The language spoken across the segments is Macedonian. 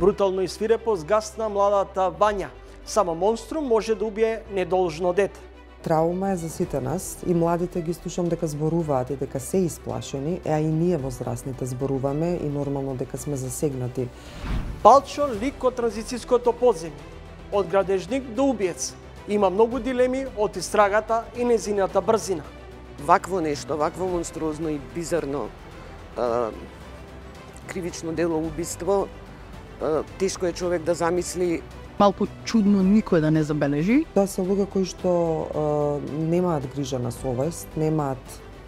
Брутално и свирепо згасна младата Вања. Само монструм може да убие недолжно дете. Траума е за сите нас и младите ги слушам дека зборуваат и дека се исплашени, а и ние возрастните зборуваме и нормално дека сме засегнати. Палчо лик од транзицијското подземје, од градежник до убиец. Има многу дилеми од истрагата и незината брзина. Вакво нешто, вакво монструозно и бизарно кривично дело убиство, тешко е човек да замисли. Малку чудно никој да не забележи. Тоа се луѓе кои што немаат грижа на совест, немаат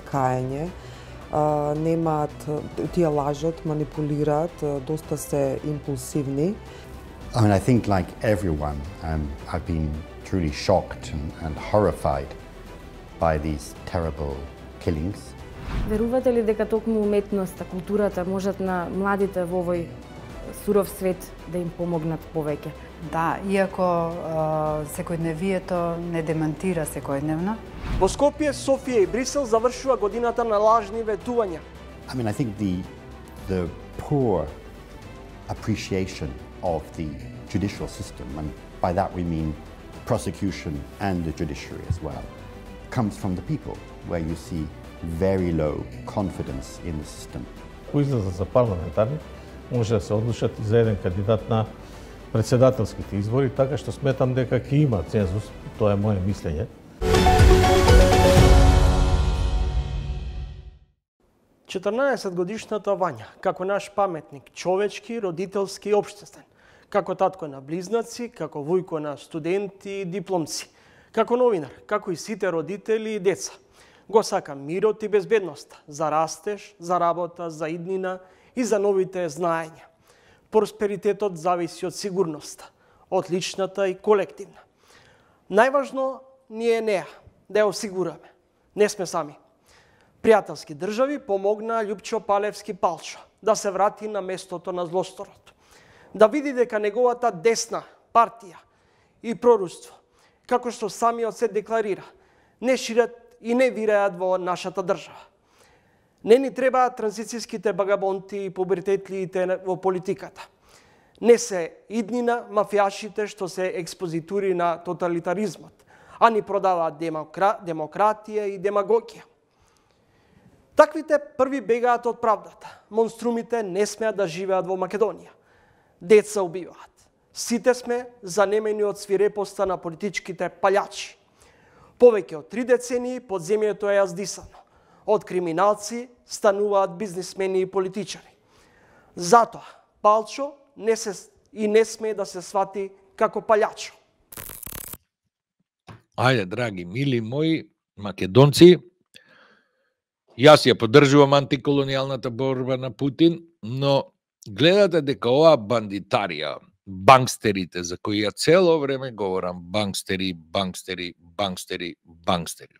каење, немаат, тие лажат, манипулираат, доста се импулсивни. I mean, I think like everyone, I've been truly shocked and horrified by these terrible killings. Верувате ли дека токму уметноста, културата можат на младите во овој суров свет да им помогнат повеќе? Да, иако секојдневието не демантира секојдневно. Во Скопје, Софија и Брисел завршува годината на лажни ветувања. I mean, I think the poor appreciation of the judicial system, and by that we mean prosecution and the judiciary as well, comes from the people, where you see very low confidence in the system. Кои излезат за парламентарни, може да се одлучат и за еден кандидат на председателските избори, така што сметам дека ќе има цензус, тоа е моје мислење. Четрнаесетгодишната Вања, како наш паметник, човечки, родителски и општествен, како татко на близнаци, како вујко на студенти и дипломци, како новинар, како и сите родители и деца. Го сакам мирот и безбедноста, за растеж, за работа, за иднина и за новите знаења. Просперитетот зависи од сигурноста, од личната и колективна. Најважно ни е неа, да ја осигураме. Не сме сами. Пријателски држави помогна Љупчо Палевски Палчо да се врати на местото на злосторот. Да види дека неговата десна партија и прорудство, како што самиот се декларира, не шират и не вираат во нашата држава. Не ни требаат транзицијските багабонти и пубертетлиите во политиката. Не се иднина мафијашите што се експозитури на тоталитаризмот, а ни продаваат демократија и демагогија. Таквите први бегаат од правдата. Монструмите не смеат да живеат во Македонија. Деца убиваат. Сите сме занемени од свирепоста на политичките палјачи. Повеќе од 3 децении подземјето е јаздисано. Од криминалци стануваат бизнисмени и политичари. Затоа Палчо не смее да се свати како палјачо. Ајде, драги, мили мои македонци, јас ја поддржувам антиколонијалната борба на Путин, но гледате дека оваа бандитарија, бангстерите, за кои ја цело време говорам, бангстери, бангстери, бангстери, бангстери.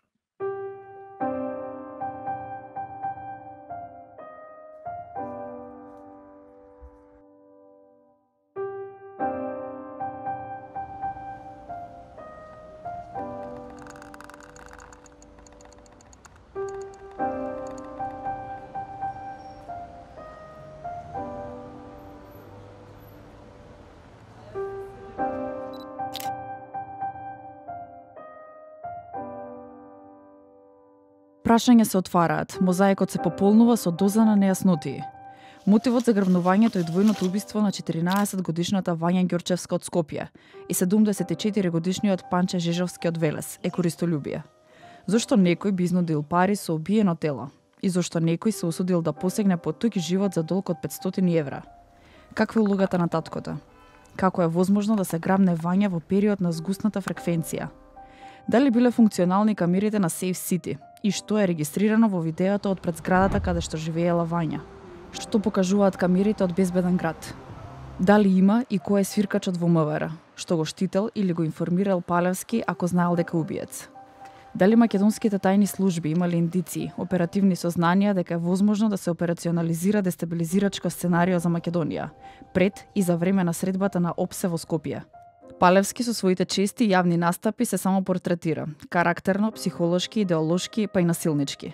Прашања се отвараат, мозаикот се пополнува со доза на нејаснотии. Мотивот за грабнувањето е двојното убиство на 14-годишната Вања Ѓорчевска од Скопје и 74-годишниот Панче Жежовски од Велес е користолюбие. Зошто некој би изнудил пари со убиено тело? И зошто некој се усудил да посегне по туѓ живот за долг од 500 евра? Каква е улогата на таткото? Како е возможно да се грабне Вања во период на згусната фреквенција? Дали биле функционални камерите на Сейф Сити? И што е регистрирано во видеото од пред зградата каде што живеела Вања? Што покажуваат камерите од безбеден град? Дали има и кој е свиркачот во МВР? Што го штител или го информирал Палевски ако знаел дека убиец? Дали македонските тајни служби имале индиции, оперативни сознанија дека е возможно да се операционализира дестабилизирачко сценарио за Македонија, пред и за време на средбата на ОПСЕ во Скопје? Палевски со своите чести јавни настапи се само портретира, карактерно, психолошки, идеолошки, па и насилнички.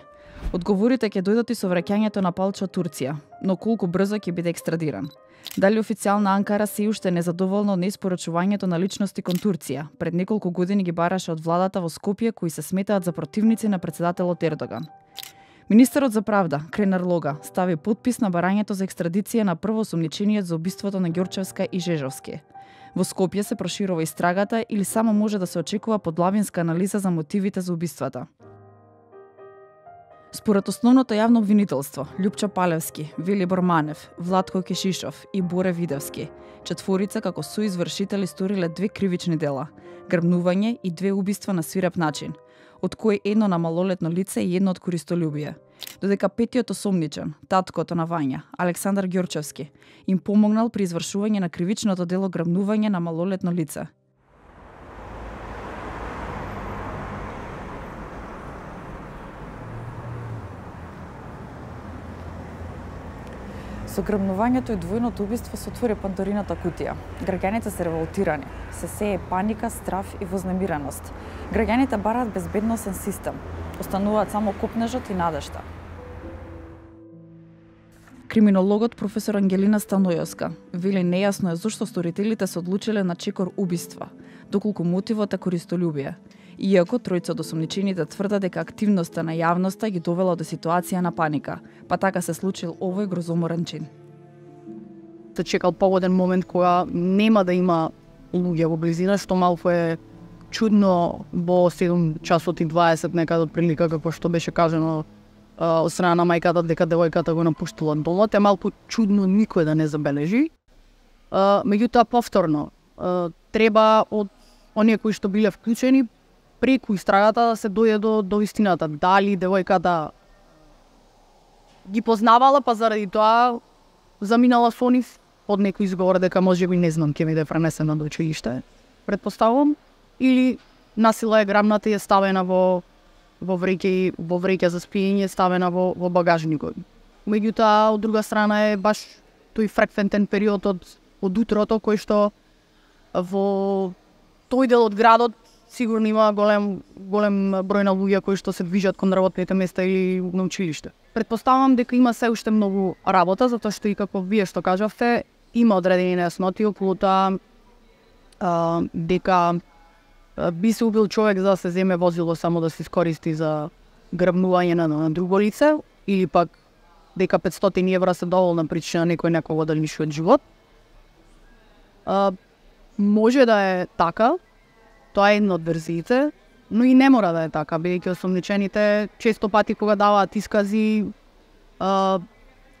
Одговорите ќе дојдат и со враќањето на Палчо од Турција, но колку брзо ќе биде екстрадиран? Дали официјална Анкара се уште незадоволна од неиспорачувањето на личности кон Турција? Пред неколку години ги бараше од владата во Скопје кои се сметаат за противници на претседателот Ердоган. Министерот за правда, Кренар Лога, стави подпис на барањето за екстрадиција на првоосомничениот за убиството на Ѓорчевска и Жежовски. Во Скопје се проширува истрагата или само може да се очекува подлабинска анализа за мотивите за убиствата. Според основното јавно обвинителство, Љупчо Палевски, Велибор Манев, Владко Кешишов и Боре Видевски, четворица како соизвршители сториле 2 кривични дела – грабнување и 2 убиства на свиреп начин, од кои едно на малолетно лице и едно од користолюбие. Додека петиот осомничен, таткото на Вања, Александар Ѓорчевски, им помогнал при извршување на кривичното дело грабнување на малолетно лице. Со грабнувањето и двојното убиство се отвори Пандорината кутија. Граѓаните се револтирани, се сее паника, страф и вознемиреност. Граѓаните бараат безбедносен систем, остануваат само копнежот и надежта. Криминологот професор Ангелина Станојовска вели нејасно е зошто сторителите се одлучиле на чекор убиства, доколку мотивот е користолюбие. Иако тројца од осомничените тврдат дека активноста на јавноста ги довела до ситуација на паника, па така се случил овој грозоморен чин. Се чекал погоден момент кога нема да има луѓе во близина, што малку е чудно во 7 часот и 20 некаде од прилика, како што беше кажано од страна на мајката дека девојката го напуштила домот, е малку чудно никој да не забележи. Меѓутоа повторно треба од оние кои што биле вклучени преку истрагата да се дојде до истината. Дали девојката ги познавала, па заради тоа заминала со нив од некој изговор дека можеби не знам ќе ми да пренесена до училиште, предпоставувам, или насила е грабната и е ставена во вреќа за спиење, ставена во багажникот. Меѓутоа, од друга страна е баш тој фреквентен период од утрото кој што во тој дел од градот сигурно има голем број на луѓе кои што се движат кон работните места или на училиште. Предпоставам дека има се уште многу работа, затоа што и како вие што кажавте, има одредени нејасноти околу тоа дека би се убил човек за да се земе возило само да се искористи за грабнување на друго лице, или пак дека 500 евра се доволна причина некој некого да лиши од живот. Може да е така, тоа е една од верзиите, но и не мора да е така, бидејќи осомничените често пати кога даваат искази,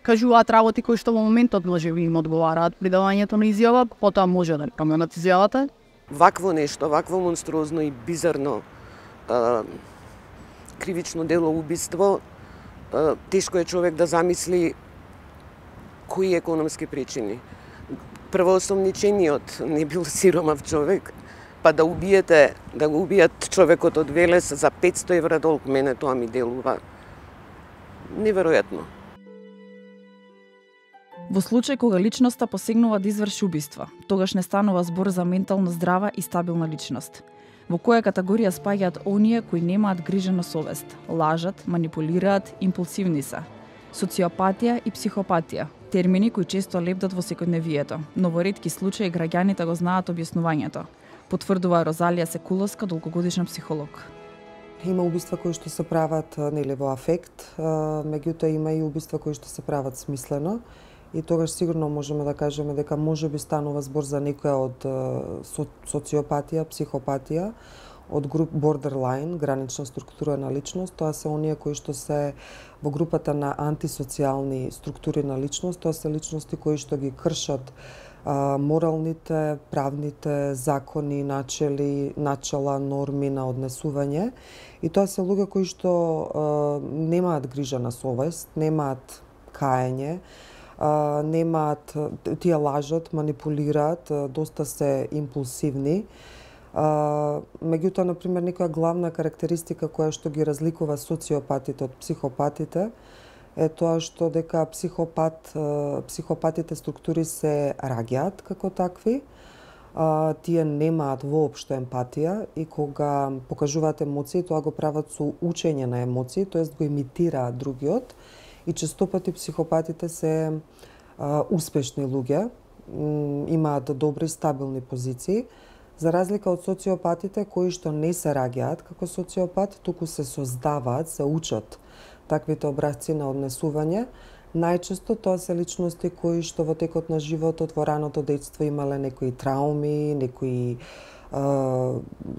кажуваат работи кои што во моментот може би им одговараат при давањето на изјава, потоа може да променат изјавата. Вакво нешто, вакво монструозно и бизарно кривично дело убиство, тешко е човек да замисли кои економски причини. Првоосомничениот не бил сиромав човек, па да го убијат човекот од Велес за 500 евра долг, мене тоа ми делува неверојатно. Во случај кога личноста посегнува да изврши убиства, тогаш не станува збор за ментално здрава и стабилна личност. Во која категорија спаѓаат оние кои немаат грижа на совест, лажат, манипулираат, импулсивни се. Социопатија и психопатија, термини кои често лепдат во секојдневието, но во ретки случаи граѓаните го знаат објаснувањето, потврдува Розалија Секуловска, долгогодишен психолог. Има убиства кои што се прават нели во афект, меѓутоа има и убиства кои што се прават смислено. И тогаш сигурно можеме да кажеме дека можеби станува збор за некоја од социопатија, психопатија, од груп borderline, гранична структура на личност. Тоа се оние кои што се во групата на антисоцијални структури на личност. Тоа се личности кои што ги кршат моралните, правните закони, начела, норми на однесување. И тоа се луѓе кои што немаат грижа на совест, немаат каење, немаат, тие лажат, манипулираат, доста се импулсивни. Меѓутоа, например, некоја главна карактеристика која што ги разликува социопатите од психопатите е тоа што дека психопатите структури се раѓаат како такви, тие немаат воопшто емпатија и кога покажуваат емоции, тоа го прават со учење на емоции, тоест го имитираат другиот и честопати психопатите се успешни луѓе, имаат добри стабилни позиции, за разлика од социопатите кои што не се раѓаат како социопат, туку се создаваат, се учат таквите образци на однесување. Најчесто тоа се личности кои што во текот на животот во раното детство имале некои трауми, некои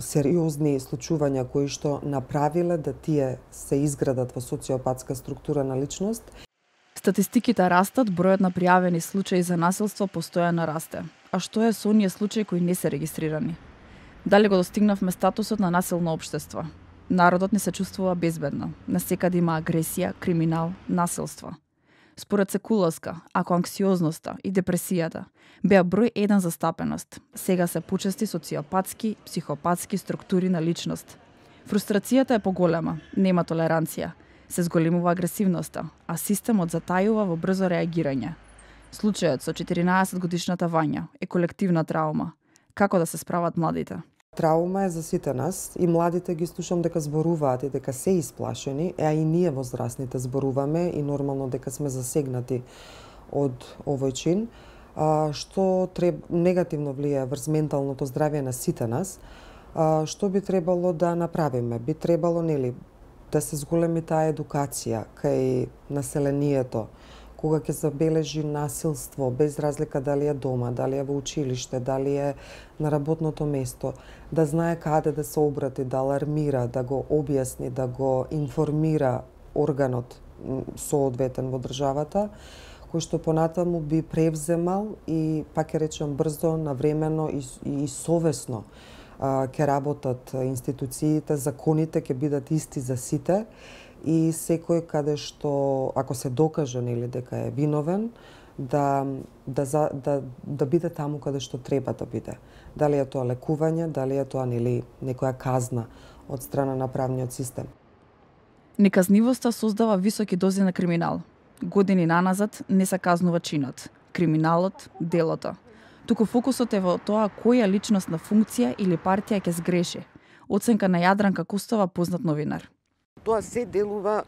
сериозни случувања кои што направиле да тие се изградат во социопатска структура на личност. Статистиките растат, бројот на пријавени случаи за насилство постојано расте. А што е со оние случаи кои не се регистрирани? Дали го достигнавме статусот на насилно општество? Народот не се чувствува безбедно. Насекаде има агресија, криминал, насилство. Според Секуловска, ако анксиозноста и депресијата беа број 1 застапеност, сега се почести социопатски, психопатски структури на личност. Фрустрацијата е поголема, нема толеранција, се зголемува агресивноста, а системот затајува во брзо реагирање. Случајот со 14-годишната Вања е колективна траума. Како да се справат младите? Траума е за сите нас и младите ги слушам дека зборуваат и дека се исплашени, а и ние возрастните зборуваме и нормално дека сме засегнати од овој чин, што негативно влијае врз менталното здравје на сите нас. Што би требало да направиме? Би требало, да се зголеми таа едукација кај населението, кога ќе забележи насилство, без разлика дали е дома, дали е во училиште, дали е на работното место, да знае каде да се обрати, да алармира, да го објасни, да го информира органот соодветен во државата, кој што понатаму би превземал и, пак ќе речем, брзо, навремено и совесно ќе работат институциите, законите ќе бидат исти за сите и секој каде што, ако се докаже дека е виновен, да биде таму каде што треба да биде. Дали е тоа лекување, дали е тоа некоја казна од страна на правниот систем. Неказнивоста создава високи дози на криминал. Години наназад не се казнува чинот, криминалот, делото. Туку фокусот е во тоа која личностна функција или партија ќе сгреши. Оценка на Јадранка Кустова, познат новинар. Тоа се делува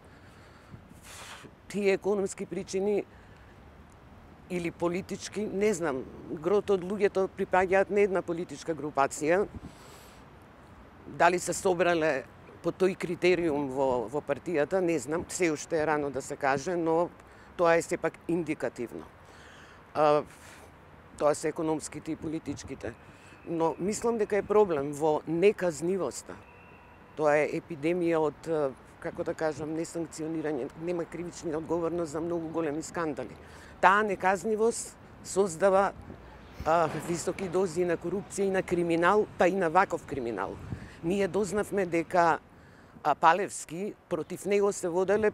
тие економски причини или политички, не знам, грото од луѓето припаѓаат на една политичка групација. Дали се собрале по тој критериум во партијата, не знам, се уште е рано да се каже, но тоа е сепак индикативно. Тоа се економските и политичките. Но мислам дека е проблем во неказнивоста. Тоа е епидемија од, како да кажам, несанкционирање, нема кривична одговорност за многу големи скандали. Таа неказнивост создава високи дози на корупција и на криминал, па и на ваков криминал. Ние дознавме дека Палевски, против него се воделе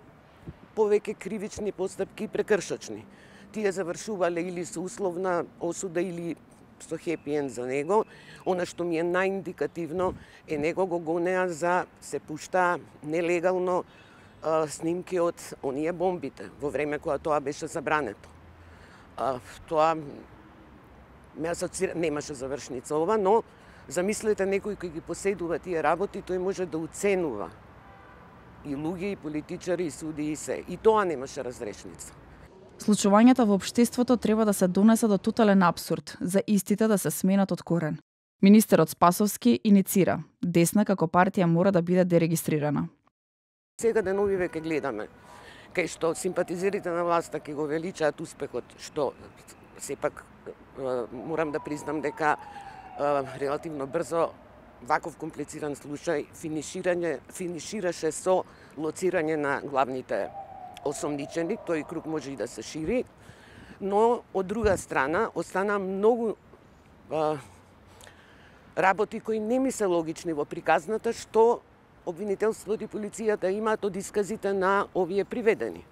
повеќе кривични постапки и прекршочни. Тие завршувале или со условна осуда или со хепи енд за него. Она што ми е најиндикативно е него го гонеа за се пушта нелегално снимки од оние бомбите во време кога тоа беше забрането. Тоа ме асоцира, немаше завршница ова, но замислете некој кој ги поседува тие работи, тој може да уценува и луѓе, и политичари, и суди, и се. И тоа немаше разрешница. Случувањата во општеството треба да се донесе до тотален апсурд, за истите да се сменат од корен. Министерот Спасовски иницира, десна како партија мора да биде дерегистрирана. Сега деновиве ќе гледаме, кај што симпатизерите на власта ќе го величаат успехот, што сепак морам да признам дека релативно брзо ваков комплициран случај финишираше со лоцирање на главните осомничени, тој круг може и да се шири, но од друга страна остана многу работи кои не ми се логични во приказната, што обвинителството и полицијата имаат од исказите на овие приведени.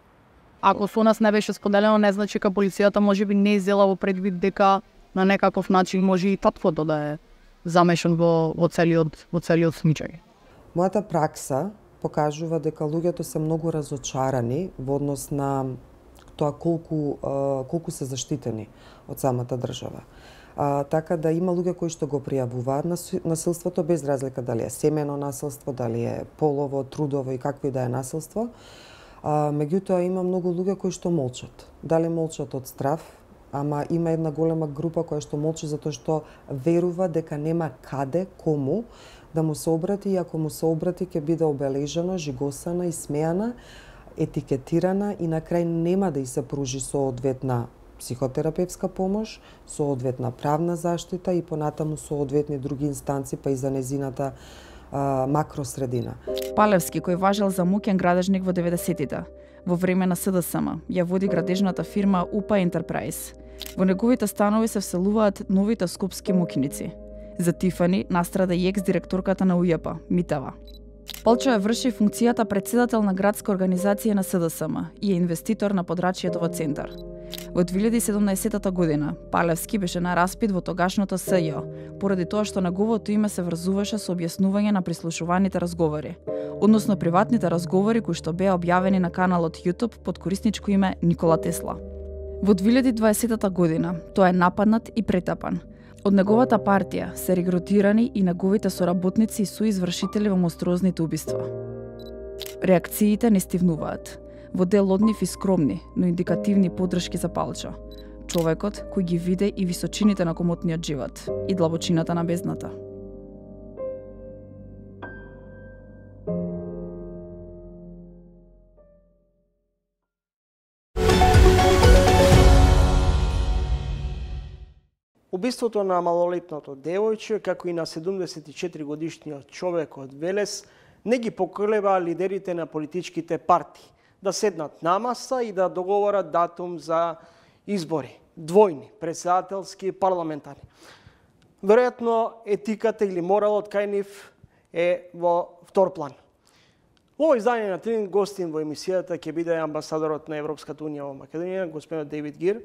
Ако со нас не беше споделено, не значи дека полицијата можеби не иззела во предвид дека на некаков начин може и татвото да е замешан во целиот случај. Мојата пракса покажува дека луѓето се многу разочарани во однос на тоа колку се заштитени од самата држава. Така да има луѓе кои што го пријавуваат насилството без разлика дали е семено насилство, дали е полово, трудово и какво и да е насилство. Меѓутоа има многу луѓе кои што молчат. Дали молчат од страв, ама има една голема група која што молчи затоа што верува дека нема каде, кому да му се обрати и ако му се обрати ќе биде обележена, жигосана и смеана, етикетирана и на крај нема да и се пружи соодветна психотерапевска помош, соодветна правна заштита и понатаму соодветни други инстанци па и за незината макросредина. Палевски, кој важел за мукен градежник во 90-тите, во време на СДСМ, ја води градежната фирма УПА Ентерпрајз. Во неговите станови се вселуваат новите скопски мукиници. За Тифани настрада и екс-директорката на УЈП, Митева. Палчо ја врши функцијата председател на градска организација на СДСМ и е инвеститор на Подрачјето во центар. Во 2017 година, Палевски беше на распит во тогашното СЈ, поради тоа што неговото име се врзуваше со објаснување на прислушуваните разговори, односно приватните разговори кои што беа објавени на каналот YouTube под корисничко име Никола Тесла. Во 2020 година тој е нападнат и претапан. Од неговата партија се регрутирани и неговите соработници и суизвршители во монструозните убиства. Реакциите не стивнуваат. Во дел од нив и скромни, но индикативни подршки за Палчо. Човекот кој ги виде и височините на комотниот живот и длабочината на бездната. Убиството на малолетното девојче, како и на 74 годишниот човек од Велес, не ги поколеба лидерите на политичките партии да седнат на маса и да договорат датум за избори, двојни, председателски и парламентарни. Веројатно етиката или моралот кај нив е во втор план. Во овој издание на Трин гостин во емисијата ќе биде амбасадорот на Европската унија во Македонија, господинот Дейвид Гир.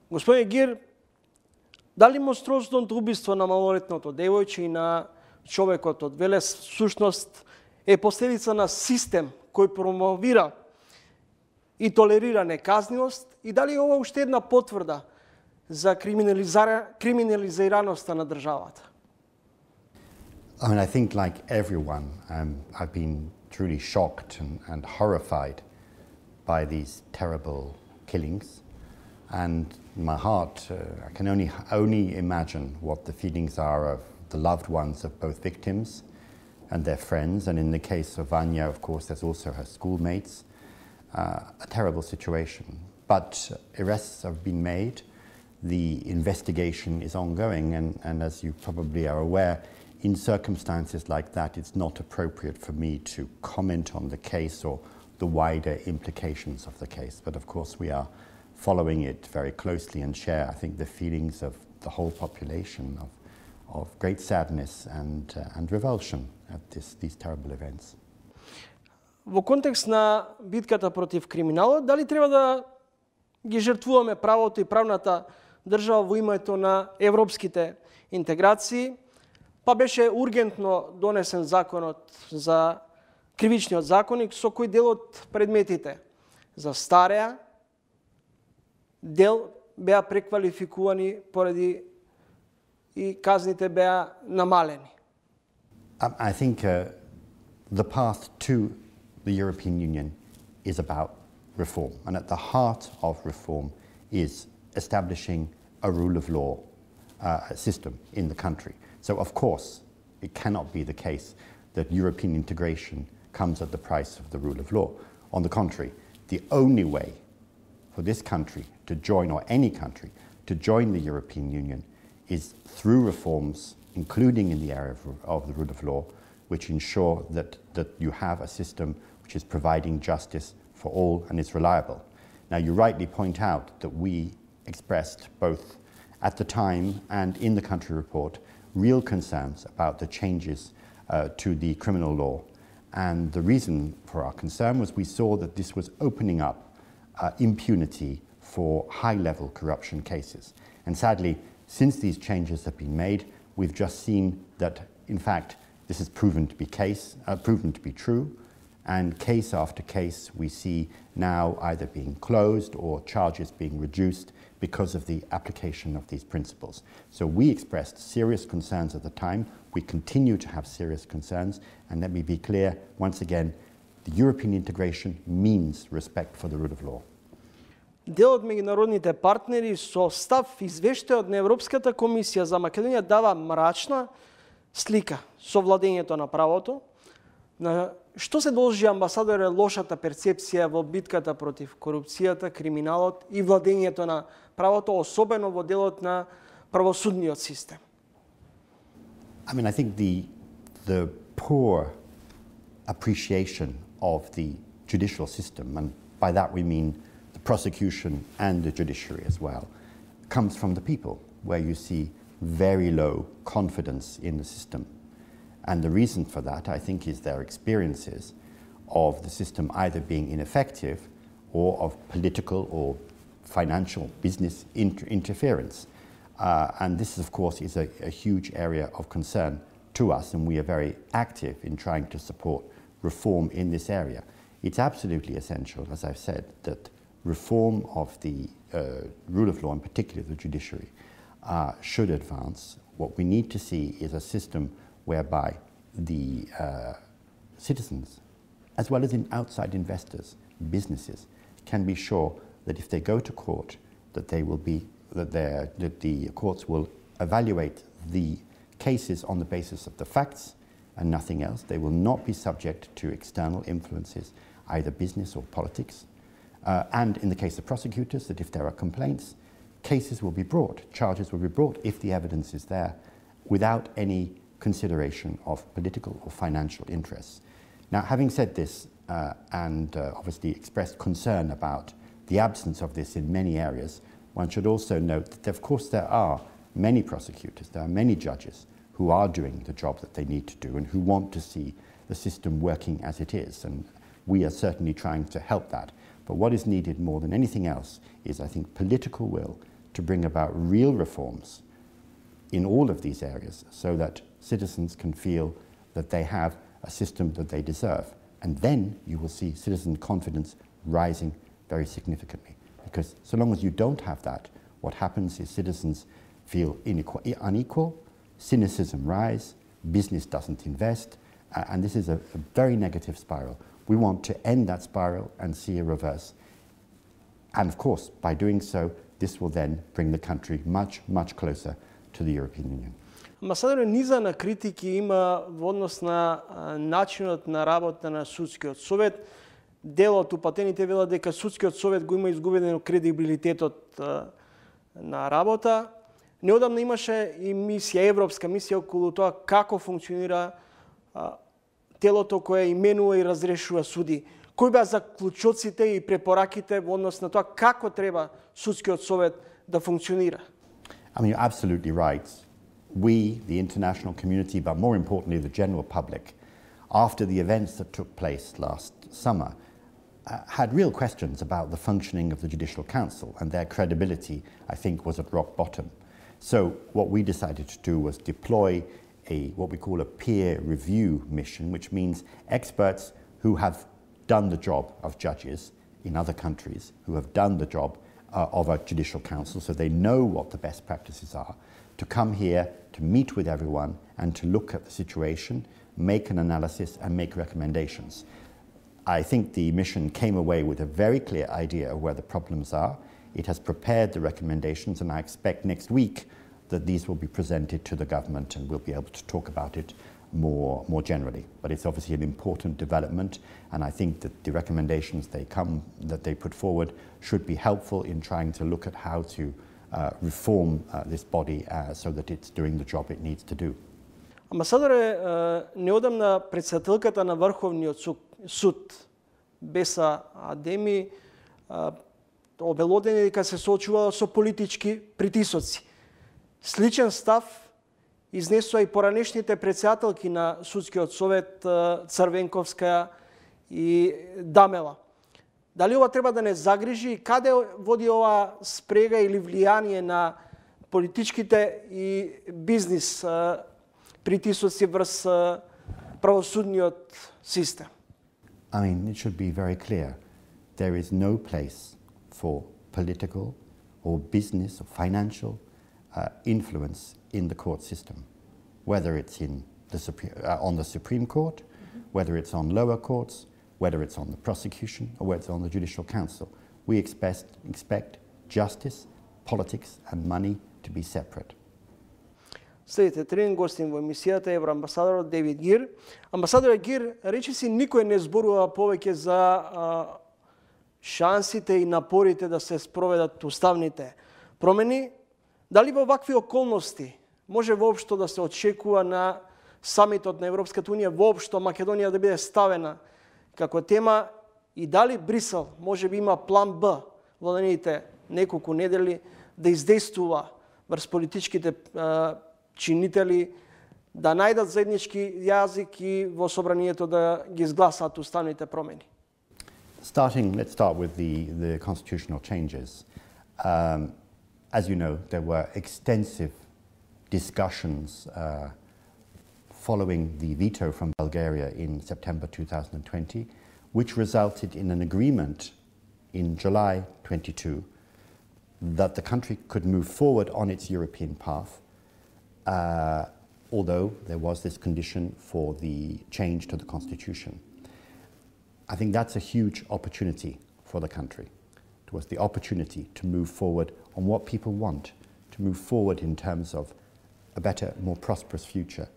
Господин Гир, дали монструозното убиство на малолетното девојче и на човекот од Велес всушност е последица на систем кој промовира и толерира неказнивост и дали ова уште една потврда за криминализираноста на државата? I mean, I think like everyone, I've been truly shocked and horrified by these terrible killings. And my heart, I can only imagine what the feelings are of the loved ones of both victims and their friends. And in the case of Vanya, of course, there's also her schoolmates. A terrible situation. But arrests have been made. The investigation is ongoing. And as you probably are aware, in circumstances like that, it's not appropriate for me to comment on the case or the wider implications of the case. But of course, we are following it very closely and share, I think, the feelings of the whole population of great sadness and revulsion at these terrible events. Во контекст на битката против криминалот, дали треба да ги жртвуваме правото и правната држава во името на европските интеграции? Па беше ургентно донесен законот за кривичниот законник, со кој дел од предметите застареа, дел беа преквалификувани поради и казните беа намалени. I think the path to the European Union is about reform. And at the heart of reform is establishing a rule of law system in the country. So of course, it cannot be the case that European integration comes at the price of the rule of law. On the contrary, the only way for this country to join, or any country, to join the European Union is through reforms, including in the area of the rule of law, which ensure that you have a system which is providing justice for all and is reliable. Now, you rightly point out that we expressed both at the time and in the country report real concerns about the changes to the criminal law. And the reason for our concern was we saw that this was opening up impunity for high-level corruption cases. And sadly, since these changes have been made, we've just seen that, in fact, this has proven to be true, And case after case, we see now either being closed or charges being reduced because of the application of these principles. So we expressed serious concerns at the time. We continue to have serious concerns. And let me be clear, once again, the European integration means respect for the rule of law. Дел од меѓународните партнери со став извештајот на Европската комисија за Македонија дава мрачна слика со владењето на правото. На што се должи, амбасадоре, лошата перцепција во битката против корупцијата, криминалот и владењето на правото, особено во делот на правосудниот систем? I mean, I think the poor appreciation of the judicial system, and by that we mean the prosecution and the judiciary as well, comes from the people, where you see very low confidence in the system. And the reason for that, I think, is their experiences of the system either being ineffective or of political or financial business interference. And this, of course, is a huge area of concern to us, and we are very active in trying to support reform in this area. It's absolutely essential, as I've said, that reform of the rule of law, in particular the judiciary, should advance. What we need to see is a system whereby the citizens, as well as outside investors, businesses, can be sure that if they go to court, that the courts will evaluate the cases on the basis of the facts and nothing else. They will not be subject to external influences, either business or politics. And in the case of prosecutors, that if there are complaints, cases will be brought, charges will be brought if the evidence is there, without any consideration of political or financial interests. Now, having said this, and obviously expressed concern about the absence of this in many areas, one should also note that, of course, there are many prosecutors, there are many judges who are doing the job that they need to do and who want to see the system working as it is, and we are certainly trying to help that. But what is needed more than anything else is, I think, political will to bring about real reforms in all of these areas so that citizens can feel that they have a system that they deserve. And then you will see citizen confidence rising very significantly. Because so long as you don't have that, what happens is citizens feel unequal, cynicism rise, business doesn't invest, and this is a very negative spiral. We want to end that spiral and see a reverse. And of course, by doing so, this will then bring the country much, much closer to the European Union. Амбасадоре, низа на критики има во однос на начинот на работа на судскиот совет. Дел од упатените велат дека судскиот совет го има изгубен кредибилитетот на работа. Неодамна имаше и мисија, европска мисија околу тоа како функционира телото кое именува и разрешува суди. Кои беа заклучоците и препораките во однос на тоа како треба судскиот совет да функционира? I mean, you're absolutely right. We, the international community, but more importantly the general public, after the events that took place last summer, had real questions about the functioning of the Judicial Council, and their credibility, I think, was at rock bottom. So what we decided to do was deploy what we call a peer review mission, which means experts who have done the job of judges in other countries, who have done the job of a judicial council, so they know what the best practices are, to come here, to meet with everyone, and to look at the situation, make an analysis, and make recommendations. I think the mission came away with a very clear idea of where the problems are. It has prepared the recommendations, and I expect next week that these will be presented to the government and we'll be able to talk about it more generally. But it's obviously an important development, and I think that the recommendations that they put forward should be helpful in trying to look at how to reform this body so that it's doing the job it needs to do. Амбасадоре, неодамна председателката на Врховниот суд, Беса Адеми, обелодени дека се соочувала со политички притисоци. Сличен став изнесоа и поранешните председателки на Судскиот совет Црвенковска и Дамела. Дали ова треба да не загрижи и каде води ова спрега или влијание на политичките и бизнис притисоци врз правосудниот систем? I mean, it should be very clear. There is no place for political or business or financial influence in the court system, whether it's in on the Supreme Court, whether it's on lower courts, whether it's on the prosecution, or whether it's on the Judicial Council. We expect justice, politics and money to be separate. Следите, тренинг гостин во емисијата е евроамбасадорот Дейвид Гир. Амбасадорот Гир речиси никој не зборува повеќе за шансите и напорите да се спроведат уставните промени. Дали во вакви околности може воопшто да се очекува на самитот на Европската унија воопшто Македонија да биде ставена како тема и дали Брисел може би има план Б во наредните неколку недели да издействува врз политичките чинители да најдат заеднички јазик и во собранието да ги изгласаат уставните промени? Let's start with the constitutional changes. As you know, there were extensive discussions following the veto from Bulgaria in September 2020, which resulted in an agreement in July 22 that the country could move forward on its European path, although there was this condition for the change to the constitution. I think that's a huge opportunity for the country. It was the opportunity to move forward on what people want, to move forward in terms of a better, more prosperous future,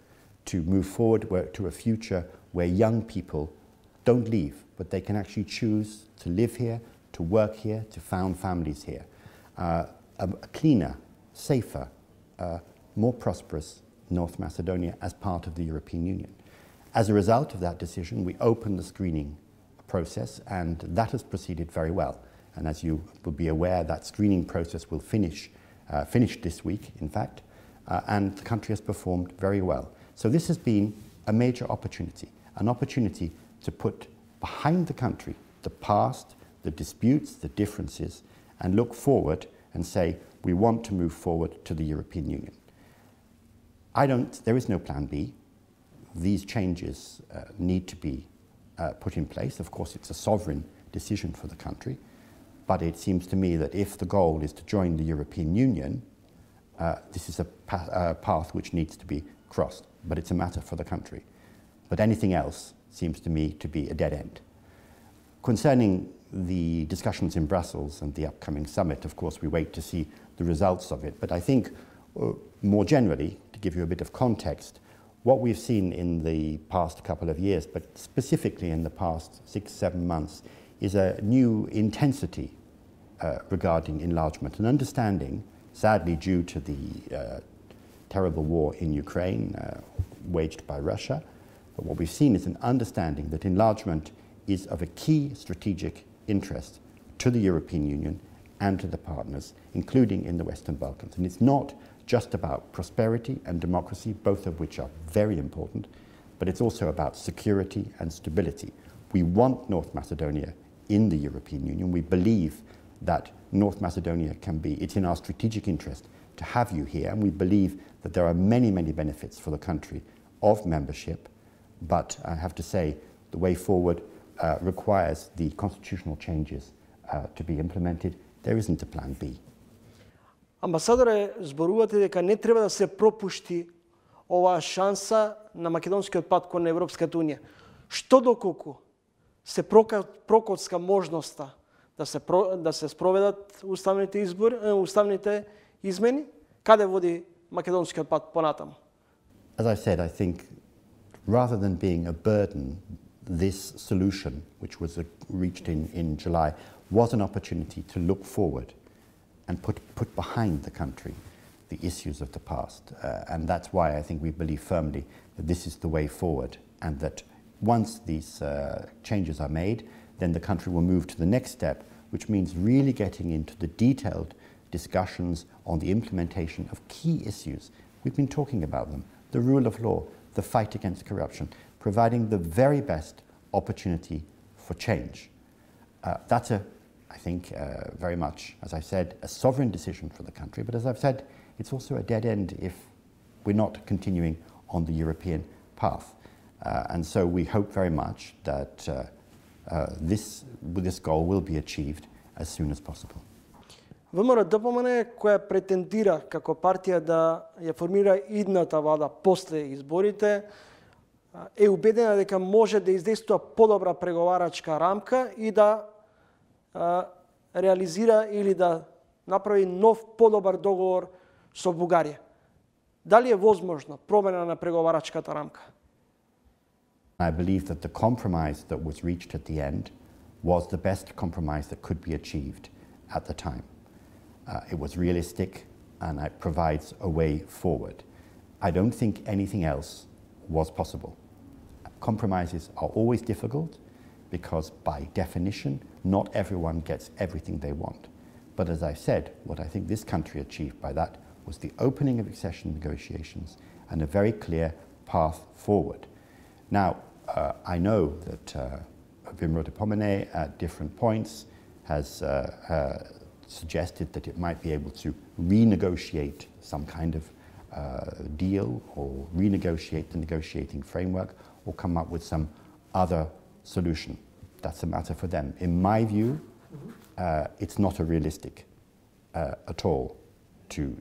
to move forward to a future where young people don't leave, but they can actually choose to live here, to work here, to found families here. A cleaner, safer, more prosperous North Macedonia as part of the European Union. As a result of that decision, we opened the screening process, and that has proceeded very well. And as you will be aware, that screening process will finish this week, in fact, and the country has performed very well. So this has been a major opportunity, an opportunity to put behind the country the past, the disputes, the differences, and look forward and say, we want to move forward to the European Union. There is no plan B. These changes need to be put in place. Of course, it's a sovereign decision for the country, but it seems to me that if the goal is to join the European Union, this is a path which needs to be crossed, but it's a matter for the country. But anything else seems to me to be a dead end. Concerning the discussions in Brussels and the upcoming summit, of course, we wait to see the results of it. But I think more generally, to give you a bit of context, what we've seen in the past couple of years, but specifically in the past 6-7 months, is a new intensity regarding enlargement, an understanding, sadly due to the terrible war in Ukraine waged by Russia. But what we've seen is an understanding that enlargement is of a key strategic interest to the European Union and to the partners, including in the Western Balkans. And it's not just about prosperity and democracy, both of which are very important, but it's also about security and stability. We want North Macedonia in the European Union. We believe that North Macedonia can be, it's in our strategic interest to have you here, and we believe that there are many, many benefits for the country of membership, but I have to say the way forward requires the constitutional changes to be implemented. There isn't a plan B. Амбасадоре, зборувате дека не треба да се пропушти оваа шанса на македонскиот пат кон Европската Унија. Што доколку се прокоцка можноста да се спроведат уставните измени, каде води македонскиот пат понатаму? As I said, I think rather than being a burden, this solution, which was reached in July, was an opportunity to look forward and put behind the country the issues of the past. And that's why I think we believe firmly that this is the way forward, and that once these changes are made, then the country will move to the next step, which means really getting into the detailed discussions on the implementation of key issues. We've been talking about them: the rule of law, the fight against corruption, providing the very best opportunity for change. That's I think very much, as I said, a sovereign decision for the country, but as I've said, it's also a dead end if we're not continuing on the European path. And so we hope very much that this goal will be achieved as soon as possible. ВМРО-ДПМН, која претендира како партија да ја формира идната влада после изборите, е убедена дека може да издействува подобра преговарачка рамка и да реализира или да направи нов подобар договор со Бугарија. Дали е возможно промена на преговарачката рамка? I believe that the compromise that was reached at the end was the best compromise that could be achieved at the time. It was realistic and it provides a way forward. I don't think anything else was possible. Compromises are always difficult because by definition, not everyone gets everything they want. But as I said, what I think this country achieved by that was the opening of accession negotiations and a very clear path forward. Now, I know that ВМРО-ДПМН at different points has suggested that it might be able to renegotiate some kind of deal or renegotiate the negotiating framework or come up with some other solution. That's a matter for them. In my view, it's not a realistic at all to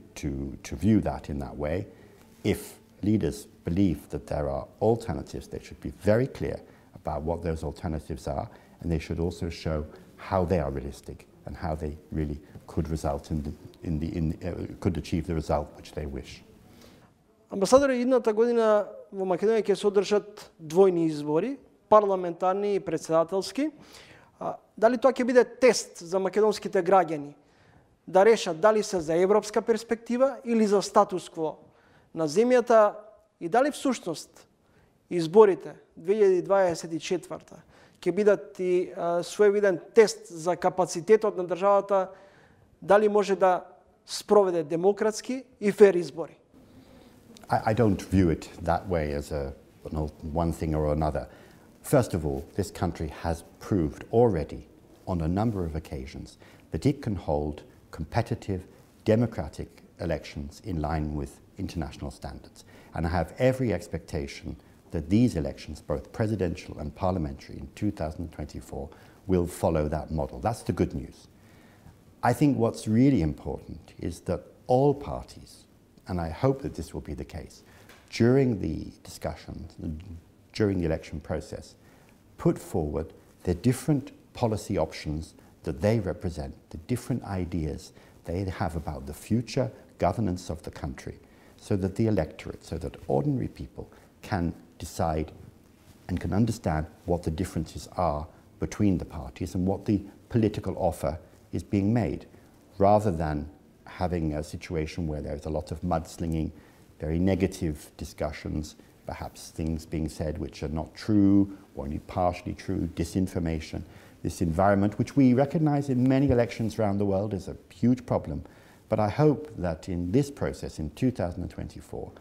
view that in that way. If leaders believe that there are alternatives, they should be very clear about what those alternatives are, and they should also show how they are realistic and how they really could result could achieve the result which they wish. Амбасадоре, идната година во Македонија ќе се одржат двојни избори, парламентарни и председателски. Дали тоа ќе биде тест за македонските граѓани да решат дали се за европска перспектива или за статус-кво на земјата и дали всушност изборите 2024 ќе бидат и своевиден тест за капацитетот на државата дали може да спроведе демократски и фер избори? I don't view it that way as one thing or another. First of all, this country has proved already on a number of occasions that it can hold competitive, democratic elections in line with international standards. And I have every expectation that these elections, both presidential and parliamentary in 2024, will follow that model. That's the good news. I think what's really important is that all parties, and I hope that this will be the case, during the discussions, during the election process, put forward the different policy options that they represent, the different ideas they have about the future governance of the country, so that the electorate, so that ordinary people can decide and can understand what the differences are between the parties and what the political offer is being made, rather than having a situation where there's a lot of mudslinging, very negative discussions, perhaps things being said which are not true or only partially true, disinformation. This environment, which we recognize in many elections around the world, is a huge problem. But I hope that in this process, in 2024,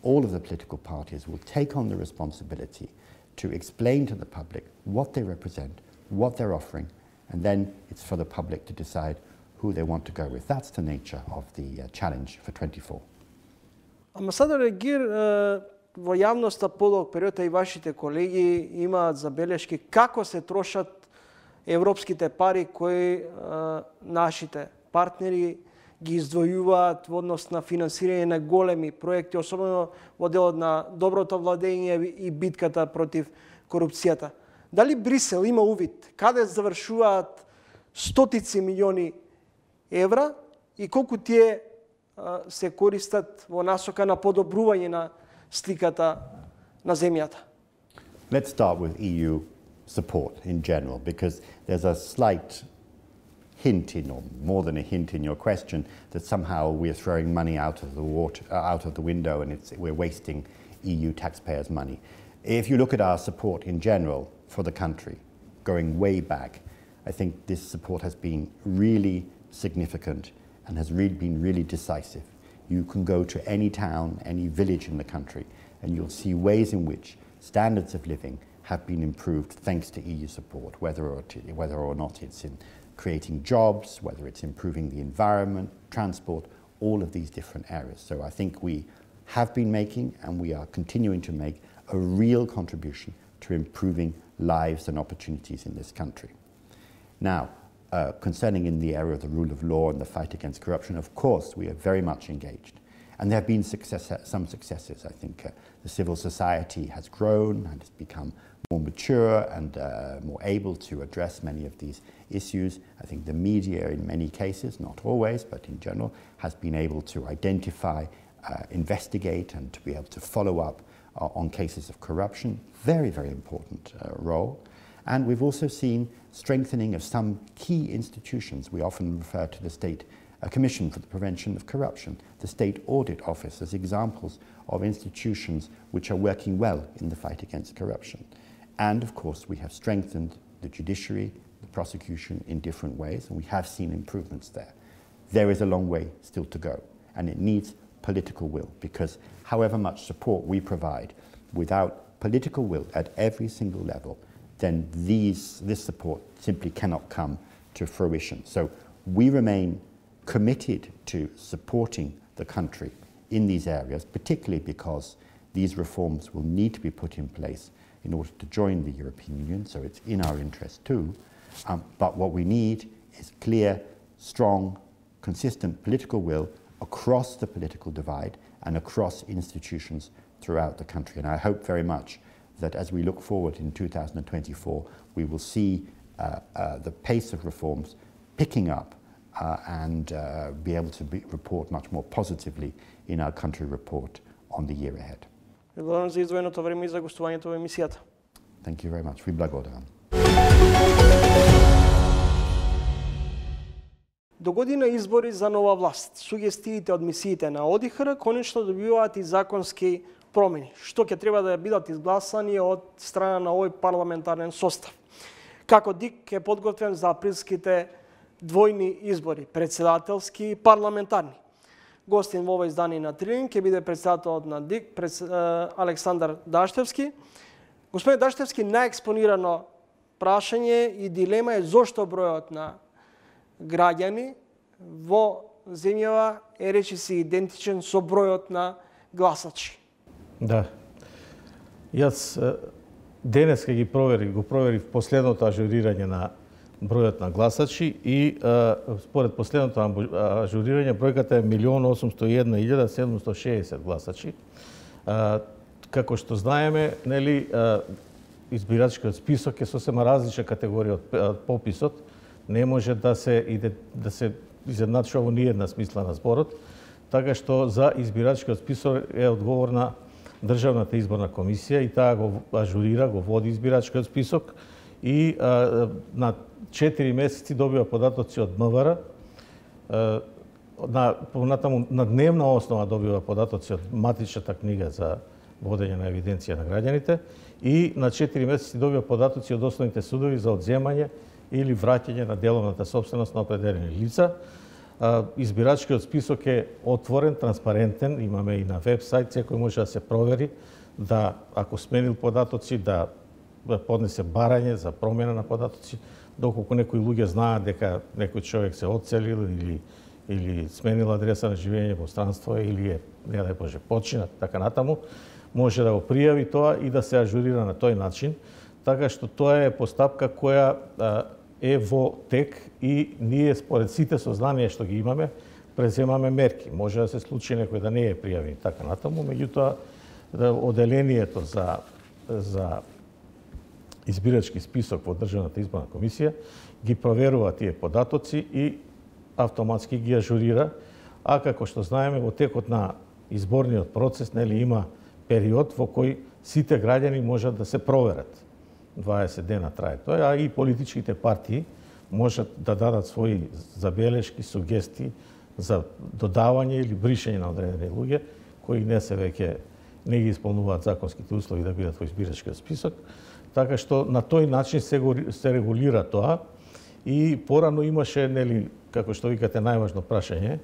all of the political parties will take on the responsibility to explain to the public what they represent, what they're offering, and then it's for the public to decide who they want to go with. That's the nature of the challenge for 24. Амбасадоре Гир, во јавноста подолг период и вашите колеги имаат забелешки како се трошат европските пари кои нашите партнери ги издвојуваат во однос на финансирање на големи проекти, особено во делот на доброто владење и битката против корупцијата. Дали Брисел има увид каде завршуваат стотици милиони евра и колку тие се користат во насока на подобрување на сликата на земјата? Let's start with EU support in general, because there's a slight hint in, or more than a hint in your question, that somehow we're throwing money out of the window and we're wasting EU taxpayers' money. If you look at our support in general for the country, going way back, I think this support has been really significant and has been really decisive. You can go to any town, any village in the country, and you'll see ways in which standards of living have been improved thanks to EU support, whether or not it's in creating jobs, whether it's improving the environment, transport, all of these different areas. So I think we have been making, and we are continuing to make, a real contribution to improving lives and opportunities in this country. Now, concerning in the area of the rule of law and the fight against corruption, of course, we are very much engaged. And there have been some successes. I think the civil society has grown and has become more mature and more able to address many of these issues. I think the media, in many cases, not always, but in general, has been able to identify, investigate, and to be able to follow up on cases of corruption. Very, very important role. And we've also seen strengthening of some key institutions. We often refer to the State Commission for the Prevention of Corruption, the State Audit Office, as examples of institutions which are working well in the fight against corruption. And of course, we have strengthened the judiciary, the prosecution in different ways, and we have seen improvements there. There is a long way still to go, and it needs political will, because however much support we provide, without political will at every single level, then this support simply cannot come to fruition. So we remain committed to supporting the country in these areas, particularly because these reforms will need to be put in place in order to join the European Union, so it's in our interest too. But what we need is clear, strong, consistent political will across the political divide and across institutions throughout the country. And I hope very much that as we look forward in 2024, we will see the pace of reforms picking up and be able to report much more positively in our country report on the year ahead. Благодарам за издвоеното време и за гостувањето во емисијата. Thank you very much. Ви благодарам. До година избори за нова власт. Сугестиите од мисиите на ОДИХР конечно добиваат и законски промени, што ќе треба да бидат изгласани од страна на овој парламентарен состав. Како ДИК е подготвен за априлските двојни избори, председателски и парламентарни. Гостин во ова издание на Трилин ќе биде председателот на ДИК, Александар Даштевски. Господин Даштевски, најекспонирано прашање и дилема е зошто бројот на граѓани во земјава е речиси идентичен со бројот на гласачи. Да. Јас денеска го проверив последното ажурирање на бројот на гласачи и според последното ажурирање бројката е 1.801.760 гласачи. Како што знаеме, нели, избирачкиот список е сосема различна категорија од пописот. Не може да се изедначува во ниедна смисла на зборот, така што за избирачкиот список е одговорна Државната изборна комисија и таа го ажурира, го води избирачкиот список и на 4 месеци добива податоци од МВР, на дневна основа добива податоци од матичната книга за водење на евиденција на граѓаните и на 4 месеци добива податоци од основните судови за одземање или враќање на деловната собственост на определени лица. Избирачкиот список е отворен, транспарентен, имаме и на веб-сайт, секој може да се провери, да ако сменил податоци, да поднесе барање за промена на податоци, доколку некои луѓе знаат дека некој човек се одселил или сменил адреса на живење во странство или е, не дај Боже, починат, така натаму, може да го пријави тоа и да се ажурира на тој начин, така што тоа е постапка која е во тек и ние според сите сознанија што ги имаме, преземаме мерки. Може да се случи некој да не е пријавен така натаму, меѓутоа оделението за избирачки список во Државната изборна комисија ги проверува тие податоци и автоматски ги ажурира, а како што знаеме во текот на изборниот процес нели има период во кој сите граѓани можат да се проверат. 20 дена трае тоа, а и политичките партии можат да дадат своји забелешки, сугестии за додавање или бришење на одредени луѓе кои не ги исполнуваат законските услови да бидат во избирачкиот список. Така што на тој начин се регулира тоа и порано имаше, нели, како што викате, најважно прашање,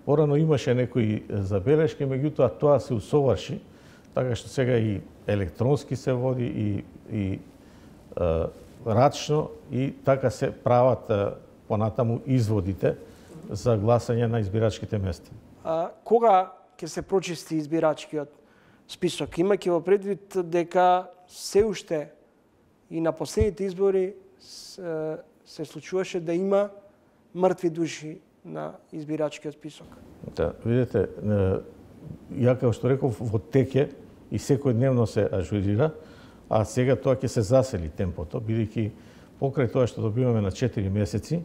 порано имаше некои забелешки, меѓутоа тоа се усоврши, така што сега и електронски се води и рачно и така се прават понатаму изводите за гласање на избирачките места. Кога ќе се прочисти избирачкиот список, имајќи во предвид дека се уште и на последните избори се случуваше да има мртви души на избирачкиот список. Да, видите, ја како што реков, во теке и секојдневно се ажурира, а сега тоа ќе се засели темпото, бидејќи покрај тоа што добиваме на 4 месеци,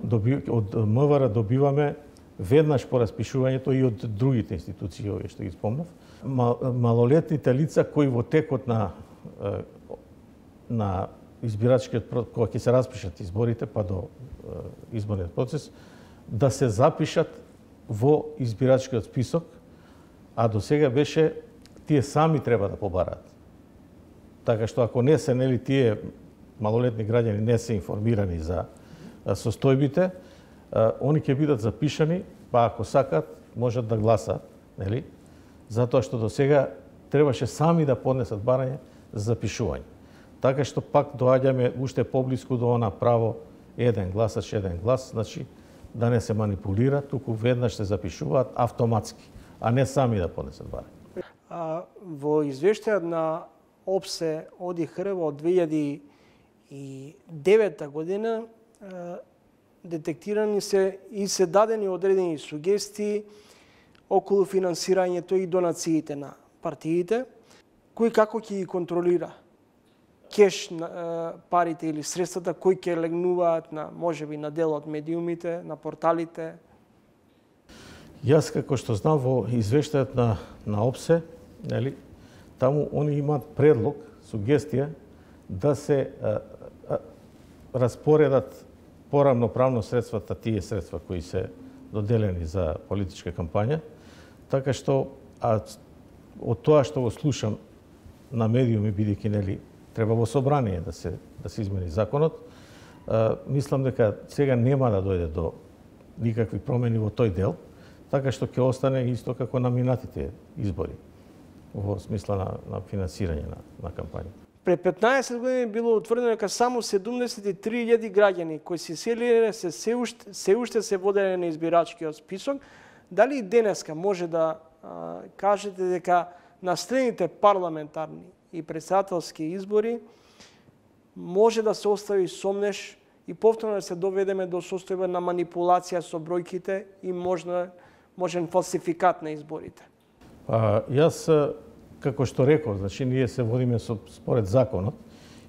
од МВР добиваме веднаш по распишувањето и од другите институции, овие што ги спомнав, малолетните лица кои во текот на избирачкиот, кога ќе се распишат изборите, па до изборниот процес, да се запишат во избирачкиот список, а до сега беше тие сами треба да побараат. Така што ако не се, нели, тие малолетни граѓани не се информирани за состојбите, они ќе бидат запишани, па ако сакат, можат да гласаат, нели? Затоа што до сега требаше сами да поднесат барање за запишување. Така што пак доаѓаме уште поблиску до она право еден гласач, еден глас, значи да не се манипулира, туку веднаш се запишуваат автоматски, а не сами да поднесат барање. Во извештајот на ОПСЕ ОДИХР од 2009 година детектирани се и се дадени одредени сугестии околу финансирањето и донациите на партиите, кој како ќе ги контролира кеш парите или средствата кои ќе легнуваат на можеби на дел од медиумите, на порталите. Јас како што знам во извештајот на ОПСЕ, нели, таму они имаат предлог, сугестија да се распоредат порамноправно средствата, тие средства кои се доделени за политичка кампања, така што од тоа што го слушам на медиуми, бидејќи, нели, треба во собрание да се измени законот, мислам дека сега нема да дојде до никакви промени во тој дел, така што ќе остане исто како на минатите избори во смисла на финансирање на кампања. Пред 15 години било утврдено дека само 73.000 граѓани кои се селиле се уште се воделе на избирачкиот список. Дали и денеска може да кажете дека на следните парламентарни и председателски избори може да се остави сомнеш и повторно да се доведеме до состојба на манипулација со бројките и можен фалсификат на изборите? Јас, како што реков, значи ние се водиме според законот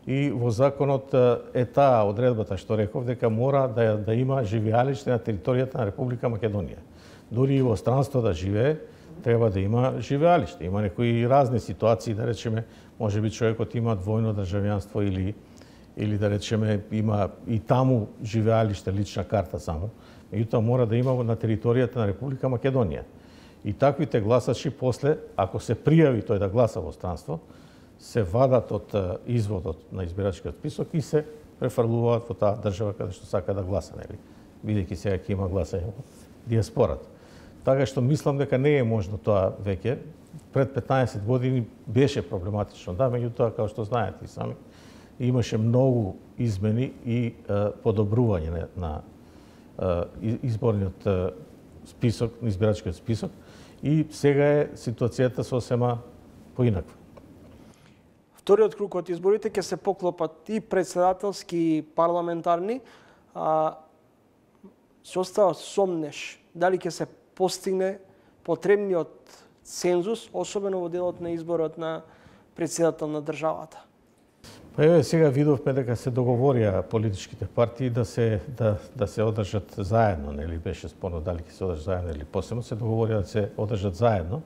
и во законот е таа одредбата што реков дека мора да има живеалиште на територијата на Република Македонија. Дури и во странство да живее, треба да има живеалиште. Има некои разни ситуации, да речеме, можеби човекот има двојно државјанство или да речеме има и таму живеалиште, лична карта само. Меѓутоа мора да има на територијата на Република Македонија. И таквите гласачи после, ако се пријави тој да гласа во странство, се вадат од изводот на избирачкиот список и се префрлуваат во таа држава каде што сака да гласа, нели? Бидејќи сега ќе има гласање во диаспората. Така што мислам дека не е можно тоа веќе. Пред 15 години беше проблематично, да, меѓутоа, како што знаете и сами, имаше многу измени и подобрување на изборниот список, на избирачкиот список, и сега е ситуацијата сосема поинаква. Вториот круг од изборите ќе се поклопат и председателски и парламентарни. Се остава сомнеш дали ќе се постигне потребниот цензус, особено во делот на изборот на председател на државата. Па еве сега видовме дека се договорија политичките партии да се одржат заедно, нели беше спорно дали ќе се одржат заедно или посебно, се договорија да се одржат заедно.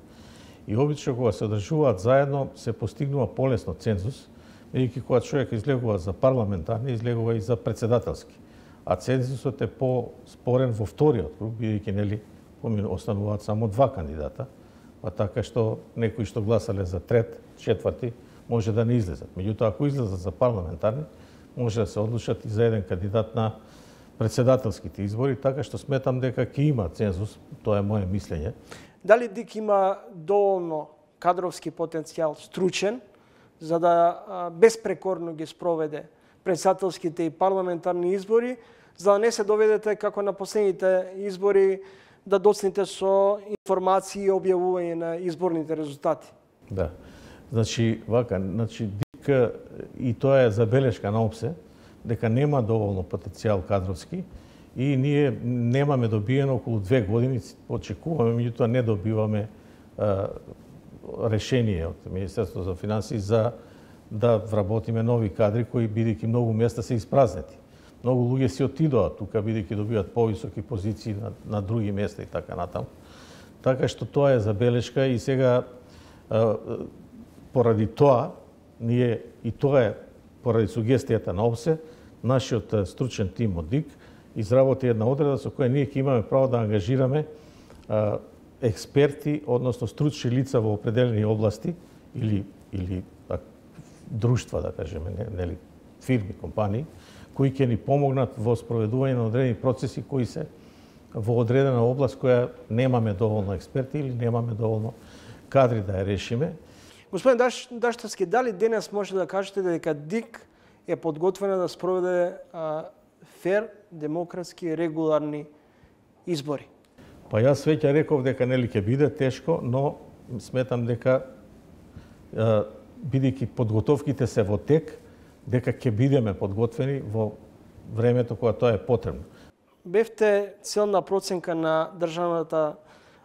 И обично кога се одржуваат заедно се постигнува полесно цензус, бидејќи кога човек излегува за парламентарни, излегува и за председателски. А цензусот е по-спорен во вториот круг, бидејќи, нели, остануваат само два кандидата, па така што некои што гласале за трет, четврти, може да не излезат. Меѓутоа, ако излезат за парламентарни, може да се одлучат и за еден кандидат на председателските избори, така што сметам дека ќе има цензус, тоа е моje мислење. Дали ДИК има доволно кадровски потенцијал, стручен, за да безпрекорно ги спроведе председателските и парламентарни избори, за да не се доведете како на последните избори да доцните со информации и објавување на изборните резултати? Да. Значи, ДИК и тоа е забелешка на ОПСЕ, дека нема доволно потенцијал кадровски и ние немаме добиено околу 2 години, очекуваме, меѓутоа не добиваме решение од Министерството за финансии за да вработиме нови кадри кои бидејќи многу места се испразнети. Многу луѓе си отидоа тука бидејќи добиваат повисоки позиции на други места и така натаму. Така што тоа е забелешка и сега поради тоа ние и тоа е поради сугестијата на ОПСЕ, нашиот стручен тим од ДИК изработи една одредба со која ние ќе имаме право да ангажираме експерти, односно стручни лица во определени области или друштва, да кажеме, нели, фирми, компании, кои ќе ни помогнат во спроведување на одредени процеси кои се во одредена област која немаме доволно експерти или немаме доволно кадри да ја решиме. Господин Даштевски, дали денес може да кажете дека ДИК е подготвена да спроведе фер, демократски, регуларни избори? Па јас веќе реков дека нели ќе биде тешко, но сметам дека бидејќи подготовките се во тек, дека ќе бидеме подготвени во времето кога тоа е потребно. Бевте целна проценка на Државната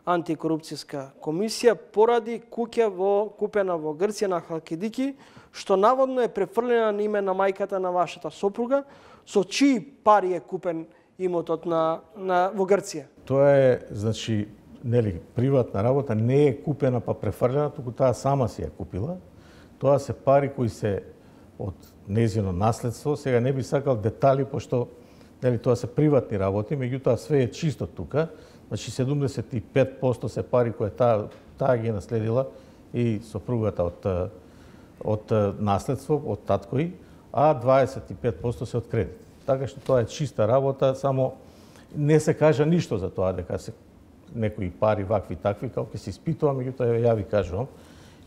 антикорупцијска комисија поради куќа купена во Грција на Халкидики, што наводно е префрлена на име на мајката на вашата сопруга, со чии пари е купен имотот во Грција? Тоа е, значи, нели, приватна работа, не е купена па префрлена, туку таа сама си ја купила. Тоа се пари кои се од нејзино наследство. Сега не би сакал детали, пошто нели, тоа се приватни работи, меѓутоа све е чисто тука. Значи 75% се пари кои таа ги наследила и сопругата од наследство, од таткои, а 25% се од кредит. Така што тоа е чиста работа, само не се кажа ништо за тоа дека се некои пари вакви такви, како ќе се испитува, меѓутоа ја ви кажувам.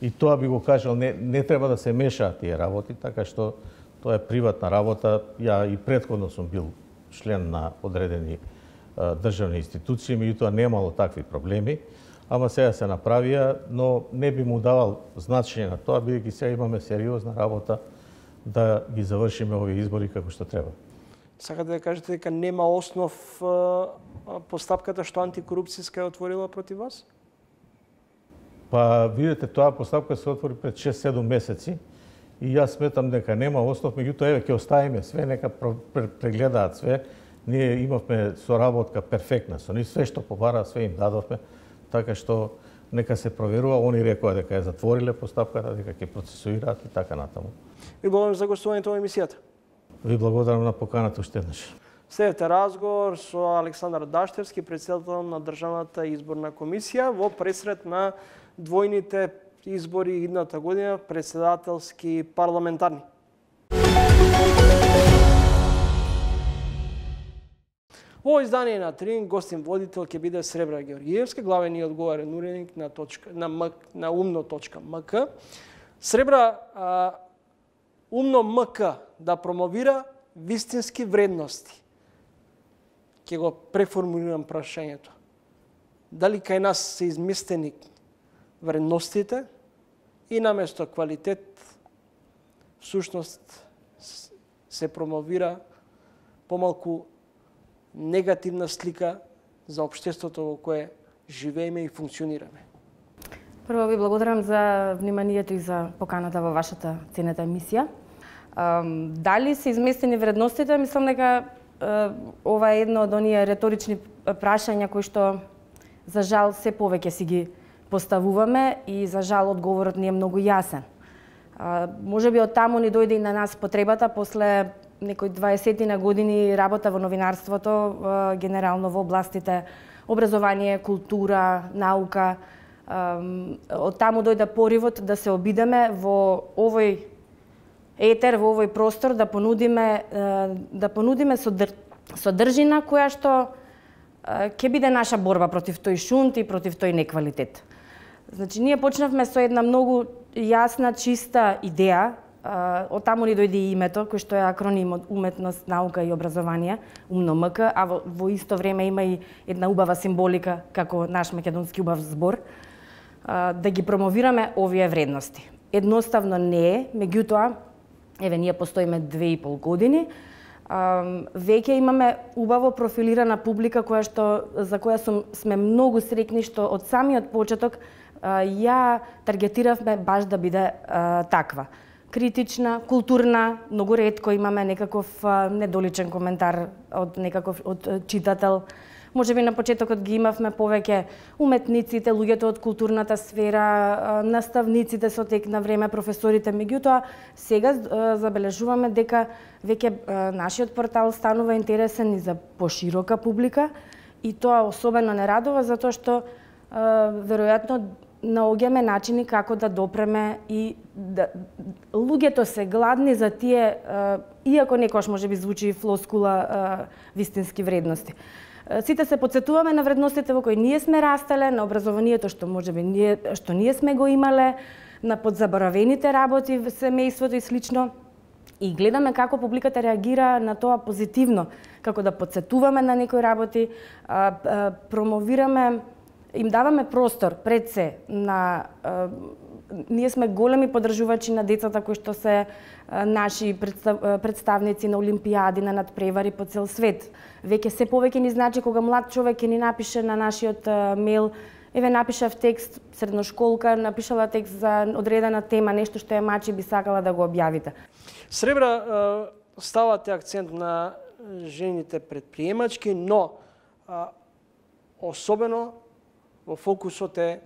И тоа би го кажал, не треба да се мешаат тие работи, така што тоа е приватна работа. Ја и претходно сум бил член на одредени државни институции, меѓутоа немало такви проблеми, ама сега се направија, но не би му давал значење на тоа, бидејќи сега имаме сериозна работа да ги завршиме овие избори како што треба. Сакате да кажете дека нема основ постапката што антикорупцијска е отворила против вас? Па, видите, тоа постапка се отвори пред 6-7 месеци и јас сметам дека нема основ, меѓутоа еве ќе оставиме све, нека прегледаат све. Ние имавме соработка перфектна со нив, све што побара, све им дадовме, така што нека се проверува. Они рекоа дека ја затвориле постапката, дека ќе процесуираат и така натаму. Ви благодарам за гостувањето во емисијата. Ви благодарам на поканата уште еднаш. Следете разговор со Александар Даштевски, претседател на Државната изборна комисија во пресред на двојните избори идната година, претседателски парламентарни. Во издание на Трин гостин водител ќе биде Сребра Георгиевска, главен и одговорен уредник на умно.мк. Сребра, умно.мк да промовира вистински вредности. Ќе го преформулирам прашањето. Дали кај нас се изместени вредностите и наместо квалитет, всушност се промовира помалку негативна слика за општеството во кое живееме и функционираме. Прво ви благодарам за вниманието и за поканата во вашата ценета емисија. Дали се изместени вредностите? Мислам дека ова е едно од оние реторични прашања кои што за жал се повеќе си ги поставуваме и за жал одговорот не е многу јасен. Можеби од таму ни дојде и на нас потребата после некои 20 на години работа во новинарството, генерално во областите образование, култура, наука. Од таму дојде поривот да се обидеме во овој етер, во овој простор да понудиме содржина која што ќе биде наша борба против тој шунт и против тој неквалитет. Значи, ние почнавме со една многу јасна, чиста идеја. Од таму ни дојде и името, кој што е акроним од уметност, наука и образование, умно.мк, а во исто време има и една убава символика, како наш македонски убав збор, да ги промовираме овие вредности. Едноставно не е, меѓутоа, еве ние постоиме 2,5 години, веќе имаме убаво профилирана публика за која сме многу среќни што од самиот почеток ја таргетиравме баш да биде таква. Критична, културна, многу ретко имаме некаков недоличен коментар од читател. Можеби на почетокот ги имавме повеќе уметниците, луѓето од културната сфера, наставниците со тек на време, професорите, меѓутоа сега забележуваме дека веќе нашиот портал станува интересен и за поширока публика и тоа особено не радува затоа што веројатно наоѓаме начини како да допреме и луѓето се гладни за тие, иако некош можеби звучи флоскула, вистински вредности. Сите се потсетуваме на вредностите во кои ние сме растеле, на образованието што можеби ние сме го имале, на подзаборавените работи во семејството и слично. И гледаме како публиката реагира на тоа позитивно, како да потсетуваме на некои работи, промовираме, им даваме простор пред се на ние сме големи поддржувачи на децата кои што се наши представници на олимпијади, на надпревари по цел свет. Веќе се повеќе ни значи кога млад човек ќе ни напише на нашиот мејл, еве напишав текст, средношколка, напишала текст за одредена тема, нешто што ја мачи би сакала да го објавите. Сребра, ставате акцент на жените предприемачки, но особено во фокусот е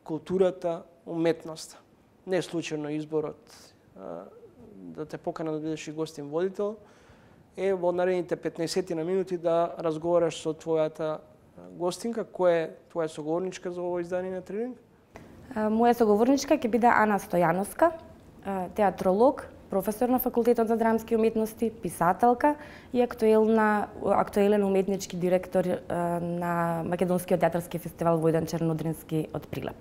културата, уметноста. Не е случајно изборот да те покана да бидеш и гостин водител, е во наредните 15 на минути да разговараш со твојата гостинка. Која е твоја соговорничка за ово издание на Трилинг? Моја соговорничка ќе биде Ана Стојановска, театролог, професор на Факултетот за драмски уметности, писателка и актуелен уметнички директор на Македонскиот театарски фестивал Војдан Чернодрински од Прилеп.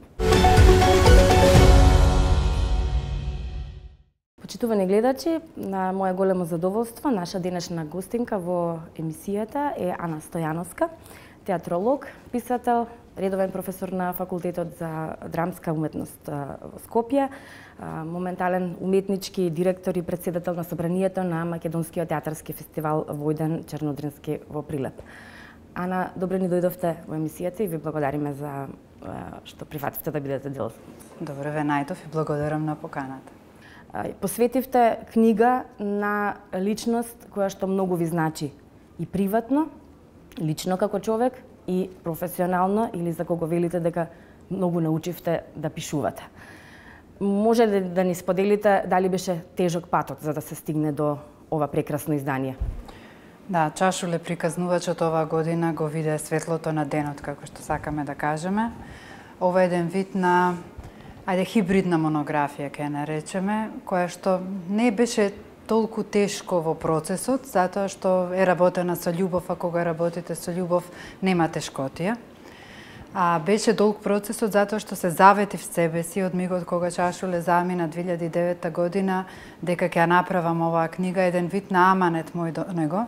Почитувани гледачи, на моје големо задоволство, наша денешна гостинка во емисијата е Ана Стојановска, театролог, писател, редовен професор на Факултетот за драмска уметност во Скопје, моментален уметнички директор и председател на собранието на Македонскиот театарски фестивал Војдан Чернодрински во Прилеп. Ана, добре ни дојдовте во емисијата и ви благодариме за што прифативте да бидете дел. Добре ве најдов и благодарам на поканата. Посветивте книга на личност која што многу ви значи и приватно, лично како човек и професионално, или за кого велите дека многу научивте да пишувате. Може ли да ни споделите дали беше тежок патот за да се стигне до ова прекрасно издание? Да, Чашуле приказнувачот оваа година го виде светлото на денот, како што сакаме да кажеме. Ова е еден вид на хибридна монографија, ќе наречеме, која што не беше толку тешко во процесот, затоа што е работена со љубов, а кога работите со љубов нема тешкотија. Беше долг процесот затоа што се заветив себе си од мигот кога Чашуле замина 2009 година дека ќе ја направам оваа книга, еден вид на аманет мој до него,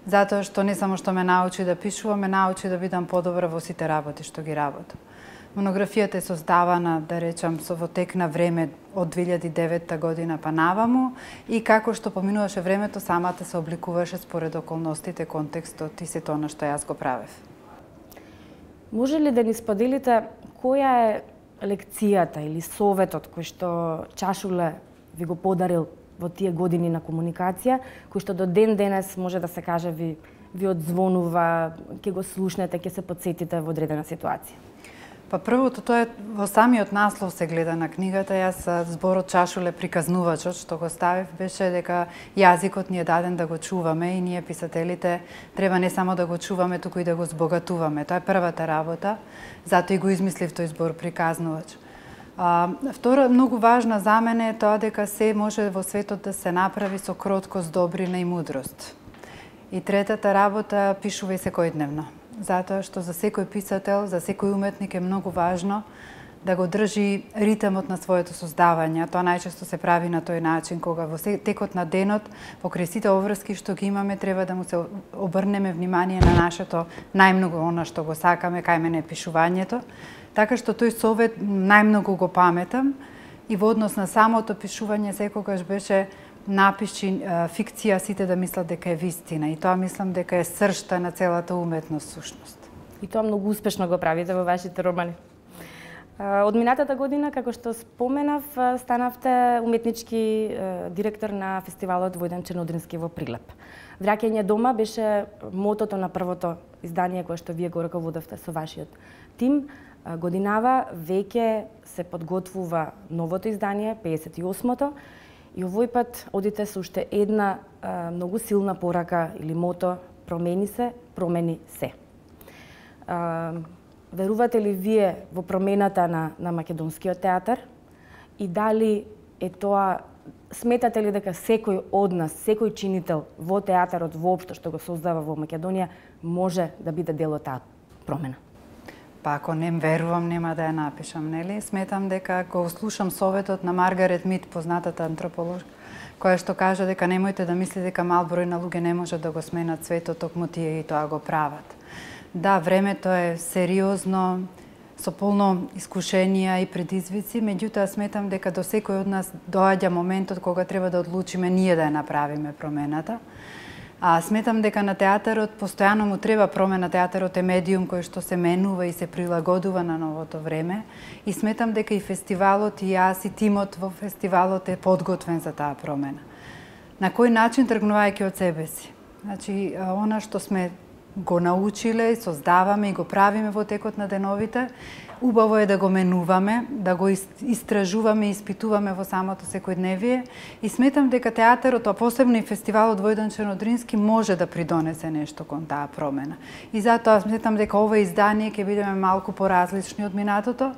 затоа што не само што ме научи да пишувам, ме научи да бидам подобра во сите работи што ги работам. Монографијата е создавана, да речам, во тек на време од 2009 година па наваму и како што поминуваше времето, самата се обликуваше според околностите, контекстот и сето она што јас го правев. Може ли да ни споделите која е лекцијата или советот кој што Чашуле ви го подарил во тие години на комуникација, кој што до ден денес може да се каже ви одзвонува, ќе го слушнете, ќе се потсетите во одредена ситуација? Па првото, тоа е во самиот наслов се гледа на книгата. Јас зборот Чашуле приказнувачот што го ставив беше дека јазикот ни е даден да го чуваме и ние писателите треба не само да го чуваме, туку и да го збогатуваме. Тоа е првата работа, затоа и го измислив тој збор приказнувач. Втора многу важна за мене е тоа дека се може во светот да се направи со кроткост, добрина и мудрост. И третата работа, пишувај секојдневно. Затоа што за секој писател, за секој уметник е многу важно да го држи ритмот на своето создавање. Тоа најчесто се прави на тој начин, кога во текот на денот, покрај сите обврски што ги имаме, треба да му се обрнеме внимание на нашето најмногу она што го сакаме, кај мене е пишувањето. Така што тој совет најмногу го паметам и во однос на самото пишување секогаш беше напиши фикција, сите да мислат дека е вистина. И тоа мислам дека е сршта на целата уметност сушност. И тоа многу успешно го правите во вашите романи. Од минатата година, како што споменав, станавте уметнички директор на фестивалот Војдан Чернодрински во Прилеп. Враќање дома беше мотото на првото издание кое што вие го раководевте со вашиот тим. Годинава веќе се подготвува новото издание, 58-то, и овој пат одите со уште една многу силна порака или мото: промени се, промени се. Верувате ли вие во промената на македонскиот театар и дали е тоа, сметате ли дека секој од нас, секој чинител во театарот воопшто што го создава во Македонија може да биде дел од таа промена? Па ако не верувам, нема да ја напишам, нели? Сметам дека го слушам советот на Маргарет Мид, познатата антрополог, која што кажа дека немојте да мислите дека мал број на луѓе не можат да го сменат светот, токму тие и тоа го прават. Да, времето е сериозно, со полно искушенија и предизвици, меѓутоа сметам дека до секој од нас доаѓа моментот кога треба да одлучиме ние да ја направиме промената. Сметам дека на театарот постојано му треба промена. Театарот е медиум кој што се менува и се прилагодува на новото време. И сметам дека и фестивалот, и јас, и тимот во фестивалот е подготвен за таа промена. На кој начин? Тргнувајќи од себе си. Значи, она што сме го научиле, создаваме и го правиме во текот на деновите, убаво е да го менуваме, да го истражуваме и испитуваме во самото секојдневие. И сметам дека театарот, а посебно и фестивалот Војдан Чернодрински, може да придонесе нешто кон таа промена. И затоа сметам дека ова издание ќе бидеме малку поразлични од минатото,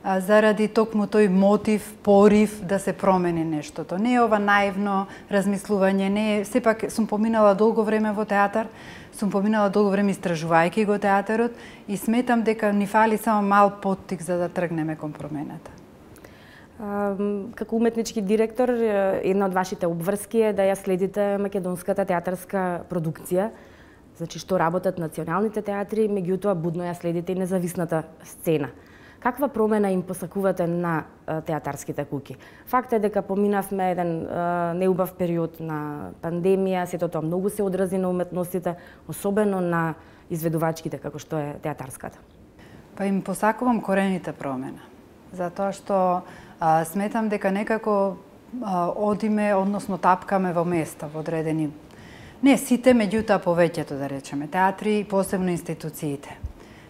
заради токму тој мотив, порив да се промени нештото. Не е ова наивно размислување, не е, сепак сум поминала долго време во театар, сум поминала долго време истражувајќи го театарот и сметам дека ни фали само мал поттик за да тргнеме кон промената. Како уметнички директор, една од вашите обврски е да ја следите македонската театарска продукција, значи што работат националните театри, меѓутоа будно ја следите и независната сцена. Каква промена им посакувате на театарските куќи? Факт е дека поминавме еден неубав период на пандемија, сето тоа многу се одрази на уметностите, особено на изведувачките како што е театарската. Па им посакувам корените промена, затоа што сметам дека некако одиме, односно тапкаме во места, во одредени, не сите, меѓутоа повеќето, да речеме, театри и посебно институциите.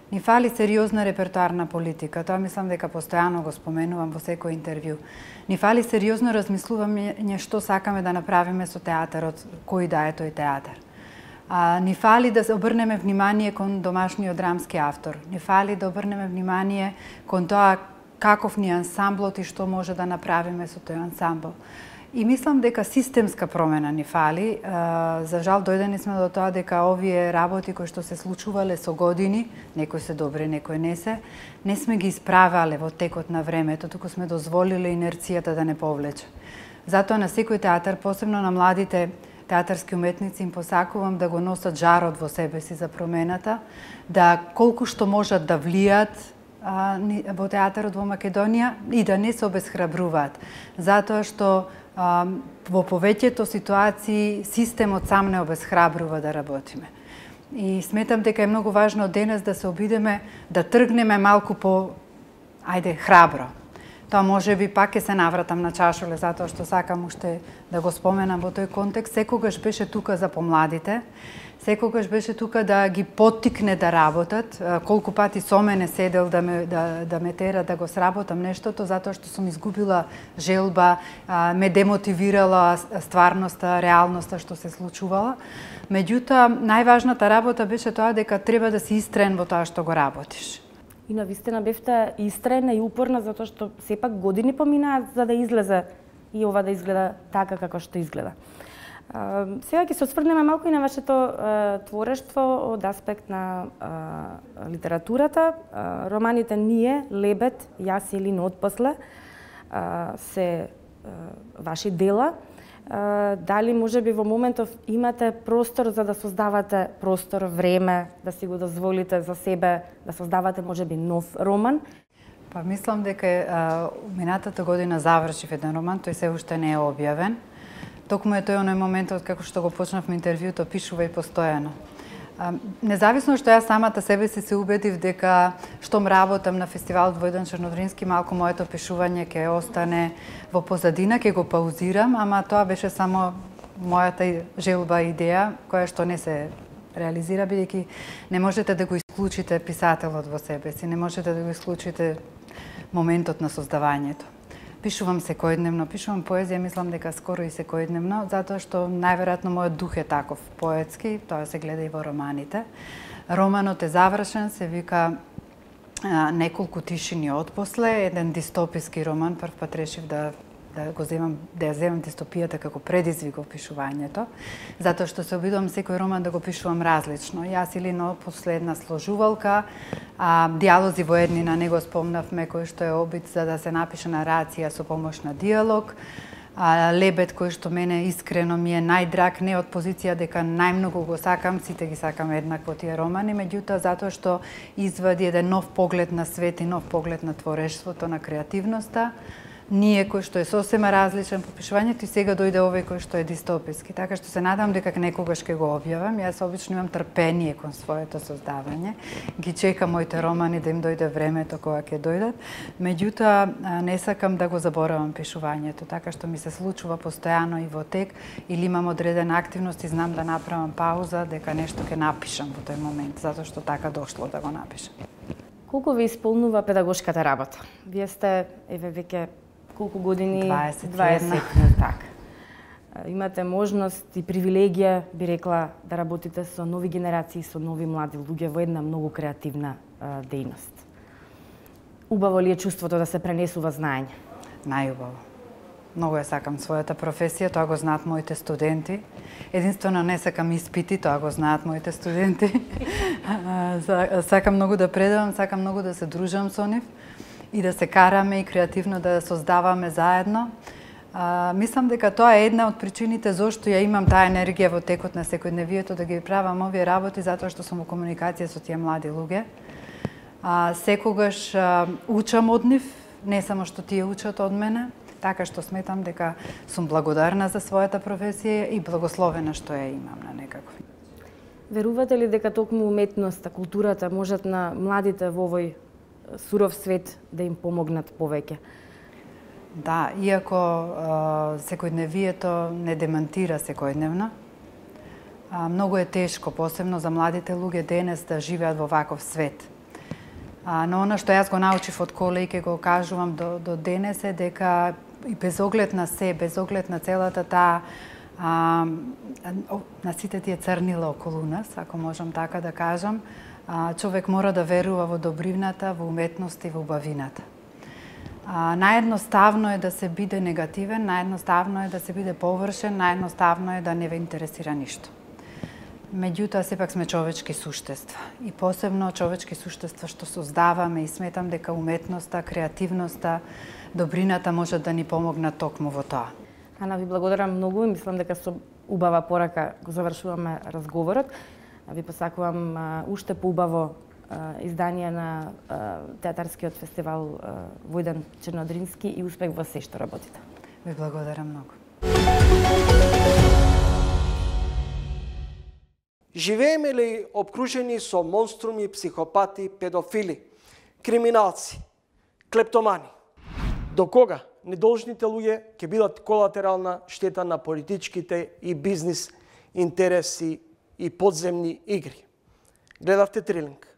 Ни фали сериозна репертуарна политика, тоа мислам дека постојано го споменувам во секој интервју. Ни фали сериозно размислување што сакаме да направиме со театарот, кој да е тој театар. Ни фали да се обрнеме внимание кон домашниот драмски автор. Ни фали да обрнеме внимание кон тоа каков ни ансамблот и што може да направиме со тој ансамбл. И мислам дека системска промена ни фали. За жал дојдени сме до тоа дека овие работи кои што се случувале со години, некои се добри, некои не се, не сме ги исправале во текот на времето, туку сме дозволиле инерцијата да не повлече. Затоа на секој театар, посебно на младите театарски уметници, им посакувам да го носат жарот во себе си за промената, да колку што можат да влијат во театарот во Македонија и да не се обесхрабруваат, затоа што во повеќето ситуации системот сам не обесхрабрува да работиме. И сметам дека е многу важно денес да се обидеме да тргнеме малку по, храбро. Тоа може би пак ќе се навратам на Чашуле, затоа што сакам уште да го споменам во тој контекст. Секогаш беше тука за помладите, секогаш беше тука да ги поттикне да работат. Колку пати со мене седел да ме тера да го сработам нештото, затоа што сум изгубила желба, ме демотивирала стварноста, реалноста што се случувала. Меѓутоа, најважната работа беше тоа дека треба да си истрен во тоа што го работиш. И навистина бевте истрена и упорна, затоа што сепак години поминаат за да излезе и ова да изгледа така како што изгледа. Сега ќе се осврнеме малку и на вашето творештво од аспект на литературата. Романите Ние, Лебед, Јас или Отпосле се ваши дела. Дали можеби во моментов имате простор за да создавате простор, време, да си го дозволите за себе, да создавате можеби нов роман? Па мислам дека минатата година завршив еден роман, тој се уште не е објавен. Токму е тој оној моментот како што го почнавме интервјуто, пишувај постојано. Независно што јас самата себе си се убедив дека штом работам на фестивалот Војдан Чернодрински, малку моето пишување ќе остане во позадина, ќе го паузирам, ама тоа беше само мојата желба и идеја, која што не се реализира, бидејќи не можете да го исклучите писателот во себе си, не можете да го исклучите моментот на создавањето. Пишувам секојдневно, пишувам поезија, мислам дека скоро и секојдневно, затоа што најверојатно мојот дух е таков поетски, тоа се гледа и во романите. Романот е завршен, се вика Неколку тишини отпосле, еден дистописки роман, прв пат решив да ја земам дистопијата како предизвик во пишувањето, затоа што се обидувам секој роман да го пишувам различно. Јас или после една сложувалка, диалози во еднина, не го спомнавме, кој што е обид за да се напише нарација со помош на диалог, Лебед, кој што мене искрено ми е најдраг, не од позиција дека најмногу го сакам, сите ги сакам еднакво тие романи, меѓутоа затоа што извади еден нов поглед на свет и нов поглед на творештвото, на креативноста, ние кој што е сосема различен по пишувањето и сега дојде овој кој што е дистописки. Така што се надам дека некогаш ќе го објавам. Јас обично имам трпение кон своето создавање. Ги чекам моите романи да им дојде времето кога ќе дојдат. Меѓутоа не сакам да го заборавам пишувањето, така што ми се случува постојано и во тек или имам одредена активност и знам да направам пауза дека нешто ќе напишам во тој момент, затоа што така дошло да го напишам. Колку ви исполнува педагошката работа? Вие сте веќе колку години? 20, така. Имате можност и привилегија, би рекла, да работите со нови генерации, со нови млади луѓе во една многу креативна дејност. Убаво ли е чувството да се пренесува знаење? Најубаво. Многу ја сакам својата професија, тоа го знаат моите студенти. Единствено не сакам испити, тоа го знаат моите студенти. Сакам многу да предавам, сакам многу да се дружам со нив и да се караме и креативно да создаваме заедно. Мислам дека тоа е една од причините зошто ја имам таа енергија во текот на секојдневието да ги правам овие работи, затоа што сум во комуникација со тие млади луѓе. Секогаш учам од нив, не само што тие учат од мене, така што сметам дека сум благодарна за својата професија и благословена што ја имам на некако. Верувате ли дека токму уметноста, културата можат на младите во овој суров свет да им помогнат повеќе? Да, иако секојдневието не демантира секојдневно, многу е тешко, посебно за младите луѓе денес да живеат во ваков свет. Но она што јас го научив од коле и ке го кажувам до денес е дека и без оглед на се, без оглед на целата таа на сите тие црнила околу нас, ако можам така да кажам, човек мора да верува во добривната, во уметност и во убавината. Наједноставно е да се биде негативен, наједноставно е да се биде површен, наједноставно е да не ве интересира ништо. Меѓутоа, сепак сме човечки суштества. И посебно човечки суштества што создаваме и сметам дека уметноста, креативноста, добрината можат да ни помогнат токму во тоа. Ана, ви благодарам многу и мислам дека со убава порака го завршуваме разговорот. Ви посакувам уште поубаво издание на театарскиот фестивал Војдан Чернодрински и успех во се што работите. Ви благодарам многу. Живееме ли обкружени со монструми, психопати, педофили, криминалци, клептомани? До кога недолжните луѓе ќе бидат колатерална штета на политичките и бизнис интереси и подземни игри? Гледавте Трилинг.